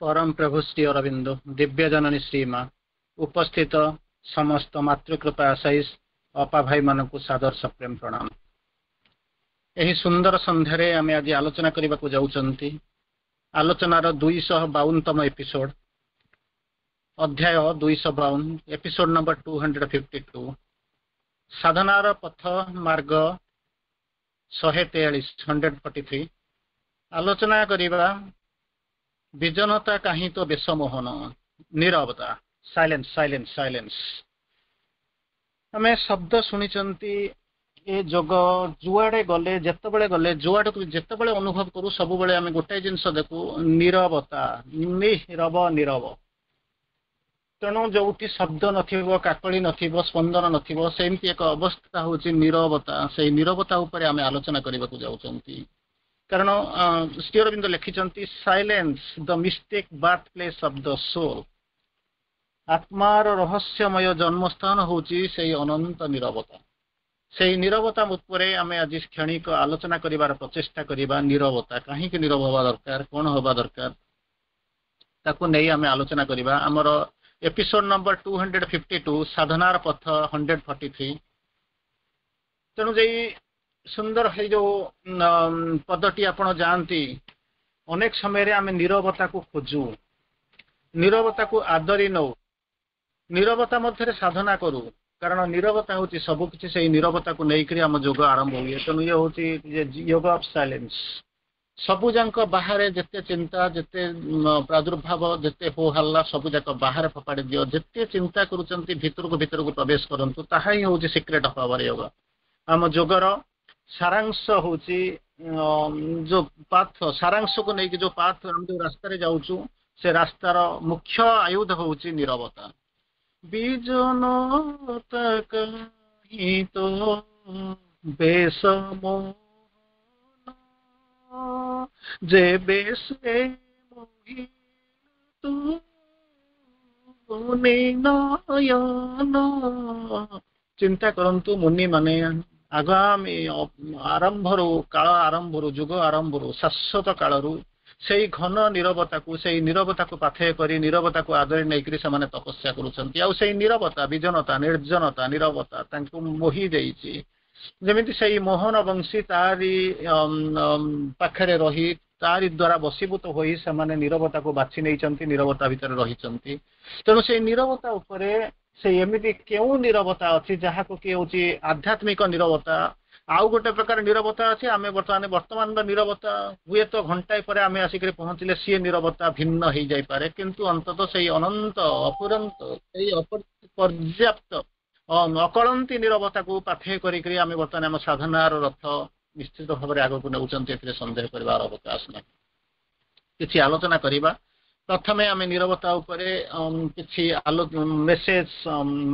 ପରମ ପ୍ରଭୁ ଶ୍ରୀ ଅରବିନ୍ଦ, ଦିବ୍ୟ ଜନନୀ ଶ୍ରୀମା, ଉପସ୍ଥିତ ସମସ୍ତ ମାତୃକୃପା ଆଶାୟୀ ଅପା ଭାଇମାନଙ୍କୁ ସାଦର ସପ୍ରେମ ପ୍ରଣାମ। ଏହି ସୁନ୍ଦର ସନ୍ଧ୍ୟାରେ ଆମେ ଆଜି ଆଲୋଚନା କରିବାକୁ ଯାଉଛନ୍ତି ଆଲୋଚନାର 252ତମ ଏପିସୋଡ, ଅଧ୍ୟାୟ 252, ଏପିସୋଡ ନମ୍ବର 252, ସାଧନାର ପଥ ମାର୍ଗ 143, 143। ଆଲୋଚନା କରିବା ବିଜନତା କାହିଁ ତ ବେଶ ମୋହନ, ନିରବତା, ସାଇଲେନ୍ସ, ସାଇଲେନ୍ସ, ସାଇଲେନ୍ସ। ଆମେ ଶବ୍ଦ ଶୁଣିଛନ୍ତି। ଏ ଯୋଗ ଯୁଆଡେ ଗଲେ, ଯେତେବେଳେ ଗଲେ, ଯୁଆଡକୁ ଯେତେବେଳେ ଅନୁଭବ କରୁ, ସବୁବେଳେ ଆମେ ଗୋଟାଏ ଜିନିଷ ଦେଖୁ, ନିରବତା, ନିରବ, ନିରବ। ତେଣୁ ଯୋଉଠି ଶବ୍ଦ ନଥିବ, କାକଳି ନଥିବ, ସ୍ପନ୍ଦନ ନଥିବ, ସେମିତି ଏକ ଅବସ୍ଥା ହଉଛି ନିରବତା। ସେଇ ନିରବତା ଉପରେ ଆମେ ଆଲୋଚନା କରିବାକୁ ଯାଉଛନ୍ତି, କାରଣ ଶ୍ରୀ ଅରବିନ୍ଦ ଲେଖିଛନ୍ତି, "Silence, the mystic birth place of the soul." ଆତ୍ମାର ରହସ୍ୟମୟ ଜନ୍ମସ୍ଥାନ ହଉଛି ସେଇ ଅନନ୍ତ ନିରବତା। ସେଇ ନିରବତା ଉପରେ ଆମେ ଆଜି କ୍ଷଣିକ ଆଲୋଚନା କରିବାର ପ୍ରଚେଷ୍ଟା କରିବା। ନିରବତା କାହିଁକି ନିରବ ହବା ଦରକାର, କଣ ହବା ଦରକାର, ତାକୁ ନେଇ ଆମେ ଆଲୋଚନା କରିବା। ଆମର ଏପିସୋଡ ନମ୍ବର 252, ସାଧନାର ପଥ 143। ତେଣୁ ଯେଇ ସୁନ୍ଦର ହେଇ ଯୋଉ ପଦଟି ଆପଣ ଯାଆନ୍ତି, ଅନେକ ସମୟରେ ଆମେ ନିରବତାକୁ ଖୋଜୁ, ନିରବତାକୁ ଆଦରି ନଉ, ନିରବତା ମଧ୍ୟରେ ସାଧନା କରୁ, କାରଣ ନିରବତା ହଉଛି ସବୁ କିଛି। ସେଇ ନିରବତାକୁ ନେଇକରି ଆମ ଯୋଗ ଆରମ୍ଭ ହୁଏ। ତେଣୁ ଇଏ ହଉଛି ୟୋଗ ଅଫ ସାଇଲେନ୍ସ। ସବୁ ଯାକ ବାହାରେ ଯେତେ ଚିନ୍ତା, ଯେତେ ପ୍ରାଦୁର୍ଭାବ, ଯେତେ ହୋ ହାଲ୍ଲା, ସବୁ ଯାକ ବାହାରେ ଫୋପାଡ଼ି ଦିଅ। ଯେତେ ଚିନ୍ତା କରୁଛନ୍ତି, ଭିତରକୁ ଭିତରକୁ ପ୍ରବେଶ କରନ୍ତୁ। ତାହା ହିଁ ହଉଛି ସିକ୍ରେଟ ଅଫ ଆୱାର ୟୋଗା। ଆମ ଯୋଗର ସାରାଂଶ ହଉଛି ଯୋଉ ପାଥ, ସାରାଂଶକୁ ନେଇକି ଯୋଉ ପାଥ, ଆମେ ଯୋଉ ରାସ୍ତାରେ ଯାଉଛୁ, ସେ ରାସ୍ତାର ମୁଖ୍ୟ ଆୟୁଧ ହଉଛି ନିରବତା। ବିଜନତା କାହିଁ ତ ବେଶ ମୋହନ, ଯେବେ ସେ ମୋହି ନୟନ। ଚିନ୍ତା କରନ୍ତୁ, ମୁନି ମାନେ ଆଗାମୀ ଆରମ୍ଭରୁ, କାଳ ଆରମ୍ଭରୁ, ଯୁଗ ଆରମ୍ଭରୁ, ଶାଶ୍ୱତ କାଳରୁ ସେଇ ଘନ ନିରବତାକୁ, ସେଇ ନିରବତାକୁ ପାଥେୟ କରି, ନିରବତାକୁ ଆଦରି ନେଇକରି ସେମାନେ ତପସ୍ୟା କରୁଛନ୍ତି। ଆଉ ସେଇ ନିରବତା, ବିଜନତା, ନିର୍ଜନତା, ନିରବତା ତାଙ୍କୁ ମୋହି ଦେଇଛି। ଯେମିତି ସେଇ ମୋହନ ବଂଶୀ ତାରି ପାଖରେ ରହି, ତାରି ଦ୍ଵାରା ବଶୀଭୂତ ହୋଇ ସେମାନେ ନିରବତାକୁ ବାଛି ନେଇଛନ୍ତି, ନିରବତା ଭିତରେ ରହିଛନ୍ତି। ତେଣୁ ସେଇ ନିରବତା ଉପରେ, ସେଇ ଏମିତି କେଉଁ ନିରବତା ଅଛି ଯାହାକୁ କି ହଉଛି ଆଧ୍ୟାତ୍ମିକ ନିରବତା? ଆଉ ଗୋଟେ ପ୍ରକାର ନିରବତା ଅଛି। ଆମେ ବର୍ତ୍ତମାନର ନିରବତା ହୁଏତ ଘଣ୍ଟାଏ ପରେ ଆମେ ଆସିକରି ପହଞ୍ଚିଲେ ସିଏ ନିରବତା ଭିନ୍ନ ହେଇଯାଇପାରେ, କିନ୍ତୁ ଅନ୍ତତଃ ସେଇ ଅନନ୍ତ ଅଫୁରନ୍ତ, ସେଇ ପର୍ଯ୍ୟାପ୍ତ ଅକଳନ୍ତି ନିରବତାକୁ ପାଥେୟ କରିକରି ଆମେ ବର୍ତ୍ତମାନ ଆମ ସାଧନାର ରଥ ନିଶ୍ଚିତ ଭାବରେ ଆଗକୁ ନେଉଛନ୍ତି, ଏଥିରେ ସନ୍ଦେହ କରିବାର ଅବକାଶ ନାହିଁ। କିଛି ଆଲୋଚନା କରିବା। ପ୍ରଥମେ ଆମେ ନିରବତା ଉପରେ କିଛି ଆଲୋ ମେସେଜ,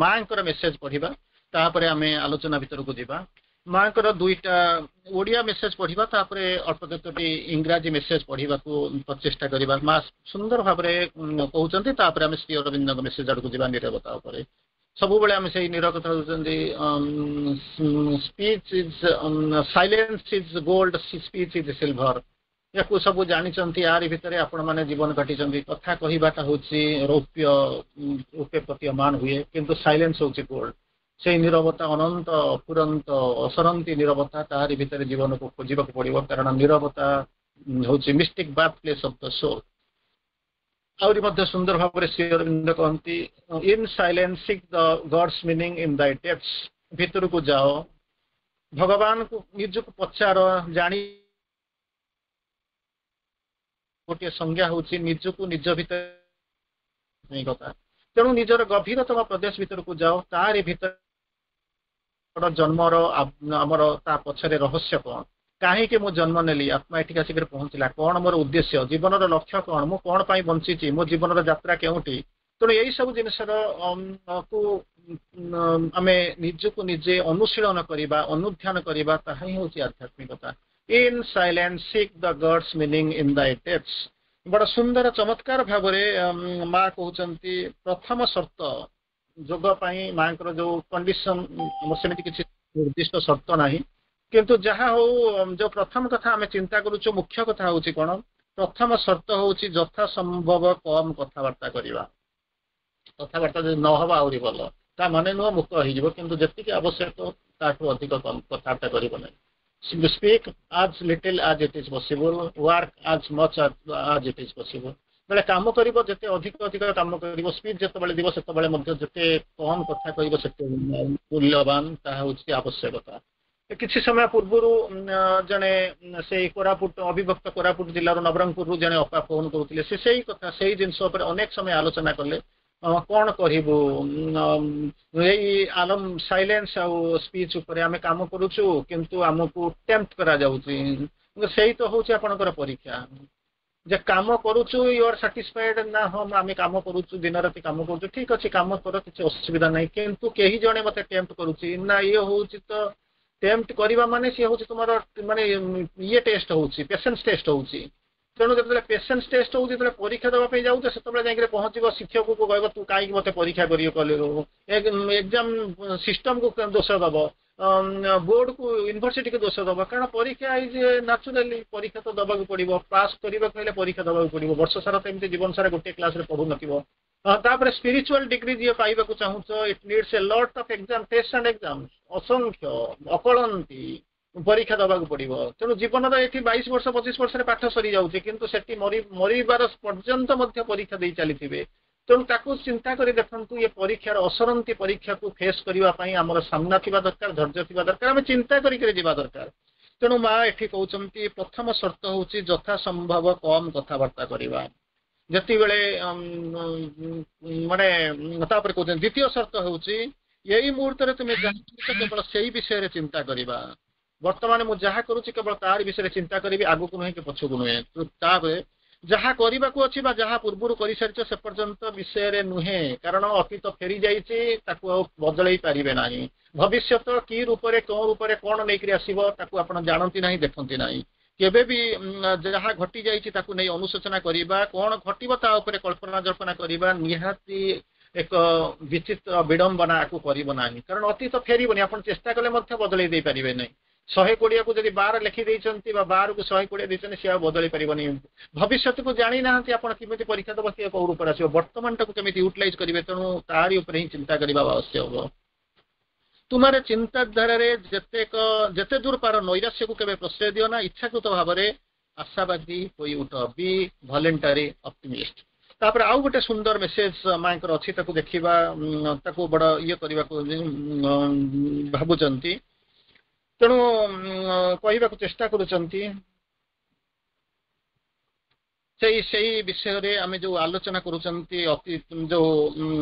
ମାଙ୍କର ମେସେଜ ପଢିବା, ତାପରେ ଆମେ ଆଲୋଚନା ଭିତରକୁ ଯିବା। ମାଙ୍କର ଦୁଇଟା ଓଡ଼ିଆ ମେସେଜ ପଢିବା, ତାପରେ ଅଳ୍ପ କେତୋଟି ଇଂରାଜୀ ମେସେଜ ପଢିବାକୁ ପ୍ରଚେଷ୍ଟା କରିବା। ମା ସୁନ୍ଦର ଭାବରେ କହୁଛନ୍ତି। ତାପରେ ଆମେ ଶ୍ରୀ ଅରବିନ୍ଦଙ୍କ ମେସେଜ ଆଡକୁ ଯିବା ନିରବତା ଉପରେ। ସବୁବେଳେ ଆମେ ସେଇ ନିରବତା ହେଉଛନ୍ତି, speech is silence is gold, speech is silver। ୟାକୁ ସବୁ ଜାଣିଛନ୍ତି। ୟାରି ଭିତରେ ଆପଣମାନେ ଜୀବନ କାଟିଛନ୍ତି। କଥା କହିବାଟା ହଉଛି ରୌପ୍ୟ, ରୌପ୍ୟ ପ୍ରତୀୟମାନ ହୁଏ, କିନ୍ତୁ ସାଇଲେନ୍ସ ହଉଛି ଗୋଲ୍ଡ। ସେଇ ନିରବତା, ଅନନ୍ତ ଅଫୁରନ୍ତ ଅସରନ୍ତି ନିରବତା, ତାହାରି ଭିତରେ ଜୀବନକୁ ଖୋଜିବାକୁ ପଡିବ, କାରଣ ନିରବତା ହଉଛି mystic birth place of the soul। ଆହୁରି ମଧ୍ୟ ସୁନ୍ଦର ଭାବରେ ଶ୍ରୀ ଅରବିନ୍ଦ କହନ୍ତି, "In silence seek the God's meaning in thy depths." ଭିତରକୁ ଯାଅ, ଭଗବାନଙ୍କୁ ନିଜକୁ ପଚାର, ଜାଣି। ଗୋଟିଏ ସଂଜ୍ଞା ହଉଛି ନିଜକୁ ନିଜ ଭିତରେ କଥା। ତେଣୁ ନିଜର ଗଭୀରତମ ପ୍ରଦେଶ ଭିତରକୁ ଯାଅ। ତାରି ଭିତରେ ଜନ୍ମର ଆମର ତା ପଛରେ ରହସ୍ୟ କଣ, କାହିଁକି ମୁଁ ଜନ୍ମ ନେଲି, ଆତ୍ମା ଏଠିକି ଆସିକରି ପହଞ୍ଚିଲା, କଣ ମୋର ଉଦ୍ଦେଶ୍ୟ, ଜୀବନର ଲକ୍ଷ୍ୟ କଣ, ମୁଁ କଣ ପାଇଁ ବଞ୍ଚିଛି, ମୋ ଜୀବନର ଯାତ୍ରା କେଉଁଠି? ତେଣୁ ଏଇ ସବୁ ଜିନିଷର କୁ ଆମେ ନିଜକୁ ନିଜେ ଅନୁଶୀଳନ କରିବା, ଅନୁଧ୍ୟାନ କରିବା, ତାହା ହିଁ ହଉଛି ଆଧ୍ୟାତ୍ମିକତା। "In silence seek the God's meaning in thy depths." ବଡ ସୁନ୍ଦର ଚମତ୍କାର ଭାବରେ ମା କହୁଛନ୍ତି। ପ୍ରଥମ ସର୍ତ୍ତ ଯୋଗ ପାଇଁ ମାଙ୍କର ଯୋଉ କଣ୍ଡିସନ, ଆମର ସେମିତି କିଛି ନିର୍ଦ୍ଦିଷ୍ଟ ସର୍ତ୍ତ ନାହିଁ, କିନ୍ତୁ ଯାହା ହଉ, ଯୋଉ ପ୍ରଥମ କଥା ଆମେ ଚିନ୍ତା କରୁଛୁ, ମୁଖ୍ୟ କଥା ହଉଛି କଣ? ପ୍ରଥମ ସର୍ତ୍ତ ହଉଛି ଯଥା ସମ୍ଭବ କମ କଥାବାର୍ତ୍ତା କରିବା। କଥାବାର୍ତ୍ତା ଯଦି ନ ହବ ଆହୁରି ଭଲ। ତା ମାନେ ନୁହଁ ମୁକ ହେଇଯିବ, କିନ୍ତୁ ଯେତିକି ଆବଶ୍ୟକ ତାଠୁ ଅଧିକ କମ କଥାବାର୍ତ୍ତା କରିବ ନାହିଁ। Speak as little as it is possible, work as much as it is possible. ବେଳେ କାମ କରିବ, ଯେତେ ଅଧିକ ଅଧିକ କାମ କରିବ, ସ୍ପିଚ୍ ଯେତେବେଳେ ଯିବ ସେତେବେଳେ ମଧ୍ୟ ଯେତେ କମ କଥା କହିବ ସେତେ ମୂଲ୍ୟବାନ। ତାହା ହଉଛି ଆବଶ୍ୟକତା। କିଛି ସମୟ ପୂର୍ବରୁ ଜଣେ ସେଇ କୋରାପୁଟ, ଅବିଭକ୍ତ କୋରାପୁଟ ଜିଲ୍ଲାରୁ ନବରଙ୍ଗପୁରରୁ ଜଣେ ଅପା ଫୋନ କରୁଥିଲେ। ସେ ସେଇ କଥା, ସେଇ ଜିନିଷ ଉପରେ ଅନେକ ସମୟ ଆଲୋଚନା କଲେ। କଣ କରିବୁ ଏଇ ଆଲମ ସାଇଲେନ୍ସ ଆଉ ସ୍ପିଚ୍ ଉପରେ ଆମେ କାମ କରୁଛୁ, କିନ୍ତୁ ଆମକୁ ଟେମ୍ପ୍ଟ କରାଯାଉଛି। ସେଇ ତ ହଉଛି ଆପଣଙ୍କର ପରୀକ୍ଷା ଯେ କାମ କରୁଛୁ, you are satisfied ନା? ହଁ, ଆମେ କାମ କରୁଛୁ, ଦିନ ରାତି କାମ କରୁଛୁ। ଠିକ ଅଛି, କାମ କର, କିଛି ଅସୁବିଧା ନାହିଁ, କିନ୍ତୁ କେହି ଜଣେ ମତେ ଟେମ୍ପ୍ଟ କରୁଛି ନା। ଇଏ ହଉଛି ତ ଟେମ୍ପ୍ଟ କରିବା ମାନେ ସିଏ ହଉଛି ତୁମର ମାନେ ଇଏ ଟେଷ୍ଟ ହଉଛି, ପେସେନ୍ସ ଟେଷ୍ଟ ହଉଛି। ତେଣୁ ଯେତେବେଳେ ପେସେନ୍ସ ଟେଷ୍ଟ ହଉଛି, ଯେତେବେଳେ ପରୀକ୍ଷା ଦେବା ପାଇଁ ଯାଉଛ, ସେତେବେଳେ ଯାଇକରି ପହଞ୍ଚିବ, ଶିକ୍ଷକକୁ କହିବ, ତୁ କାହିଁକି ମତେ ପରୀକ୍ଷା କରିବ କଲୁ? ଏକ୍ଜାମ ସିଷ୍ଟମକୁ ଦୋଷ ଦବ, ବୋର୍ଡକୁ, ୟୁନିଭର୍ସିଟିକୁ ଦୋଷ ଦବ। କାରଣ ପରୀକ୍ଷା is naturally, ପରୀକ୍ଷା ତ ଦବାକୁ ପଡିବ। ପାସ୍ କରିବାକୁ ହେଲେ ପରୀକ୍ଷା ଦବାକୁ ପଡିବ। ବର୍ଷ ସାରା ତ ଏମିତି ଜୀବନ ସାରା ଗୋଟିଏ କ୍ଲାସରେ ପଢୁନଥିବ। ତାପରେ ସ୍ପିରିଚୁଆଲ ଡିଗ୍ରୀ ଯିଏ ପାଇବାକୁ ଚାହୁଁଛ, it needs a lot of exam, test and exam. ଅସଂଖ୍ୟ ଅକଳନ୍ତି ପରୀକ୍ଷା ଦବାକୁ ପଡିବ। ତେଣୁ ଜୀବନର ଏଠି 22 ବର୍ଷ, 25 ବର୍ଷରେ ପାଠ ସରିଯାଉଛି, କିନ୍ତୁ ସେଠି ମରିବାର ପର୍ଯ୍ୟନ୍ତ ମଧ୍ୟ ପରୀକ୍ଷା ଦେଇ ଚାଲିଥିବେ। ତେଣୁ ତାକୁ ଚିନ୍ତା କରି ଦେଖନ୍ତୁ, ଏ ପରୀକ୍ଷାର ଅସରନ୍ତି ପରୀକ୍ଷାକୁ ଫେସ୍ କରିବା ପାଇଁ ଆମର ସାମ୍ନା ଥିବା ଦରକାର, ଧୈର୍ଯ୍ୟ ଥିବା ଦରକାର, ଆମେ ଚିନ୍ତା କରିକରି ଯିବା ଦରକାର। ତେଣୁ ମା ଏଠି କହୁଛନ୍ତି, ପ୍ରଥମ ସର୍ତ୍ତ ହଉଛି ଯଥା ସମ୍ଭବ କମ କଥାବାର୍ତ୍ତା କରିବା। ଯେତିକିବେଳେ ମାନେ ତାପରେ କହୁଛନ୍ତି, ଦ୍ୱିତୀୟ ସର୍ତ୍ତ ହେଉଛି ଏଇ ମୁହୂର୍ତ୍ତରେ ତୁମେ ଯାହା କରୁଛ କେବଳ ସେଇ ବିଷୟରେ ଚିନ୍ତା କରିବା। ବର୍ତ୍ତମାନ ମୁଁ ଯାହା କରୁଛି କେବଳ ତାରି ବିଷୟରେ ଚିନ୍ତା କରିବି, ଆଗକୁ ନୁହେଁ କି ପଛକୁ ନୁହେଁ। ତାପରେ ଯାହା କରିବାକୁ ଅଛି ବା ଯାହା ପୂର୍ବରୁ କରିସାରିଛ ସେ ପର୍ଯ୍ୟନ୍ତ ବିଷୟରେ ନୁହେଁ। କାରଣ ଅତୀତ ଫେରି ଯାଇଛି, ତାକୁ ଆଉ ବଦଳେଇ ପାରିବେ ନାହିଁ। ଭବିଷ୍ୟତ କି ରୂପରେ, କେଉଁ ରୂପରେ, କଣ ନେଇକରି ଆସିବ, ତାକୁ ଆପଣ ଜାଣନ୍ତି ନାହିଁ, ଦେଖନ୍ତି ନାହିଁ। କେବେ ବି ଯାହା ଘଟି ଯାଇଛି ତାକୁ ନେଇ ଅନୁଶୋଚନା କରିବା, କଣ ଘଟିବ ତା ଉପରେ କଳ୍ପନା ଜଳ୍ପନା କରିବା ନିହାତି ଏକ ବିଚିତ୍ର ବିଡମ୍ବନା। ଆକୁ କରିବ ନାହିଁ, କାରଣ ଅତୀତ ଫେରିବନି। ଆପଣ ଚେଷ୍ଟା କଲେ ମଧ୍ୟ ବଦଳେଇ ଦେଇପାରିବେ ନାହିଁ। 120କୁ ଯଦି 12 ଲେଖି ଦେଇଛନ୍ତି ବା 12କୁ 120 ଦେଇଛନ୍ତି, ସେ ଆଉ ବଦଳି ପାରିବନି। ଭବିଷ୍ୟତକୁ ଜାଣିନାହାନ୍ତି ଆପଣ, କେମିତି ପରୀକ୍ଷା ଦେବ, କିଏ କୋଉ ରୂପରେ ଆସିବ। ବର୍ତ୍ତମାନଟାକୁ କେମିତି ୟୁଟିଲାଇଜ କରିବେ, ତେଣୁ ତାରି ଉପରେ ହିଁ ଚିନ୍ତା କରିବା ଆବଶ୍ୟକ। ତୁମର ଚିନ୍ତାଧାରାରେ ଯେତେ ଦୂର ପାର ନୈରାଶ୍ୟକୁ କେବେ ପ୍ରଶ୍ରୟ ଦିଅ ନା। ଇଚ୍ଛାକୃତ ଭାବରେ ଆଶାବାଦୀ ହୋଇ ଉଠ। Be voluntary optimist. ତାପରେ ଆଉ ଗୋଟେ ସୁନ୍ଦର ମେସେଜ ମାଙ୍କର ଅଛି, ତାକୁ ଦେଖିବା। ତାକୁ ବଡ ଇଏ କରିବାକୁ ଭାବୁଛନ୍ତି, ତେଣୁ କହିବାକୁ ଚେଷ୍ଟା କରୁଛନ୍ତି ସେଇ ସେଇ ବିଷୟରେ ଆମେ ଯୋଉ ଆଲୋଚନା କରୁଛନ୍ତି, ଅତି ଯୋଉ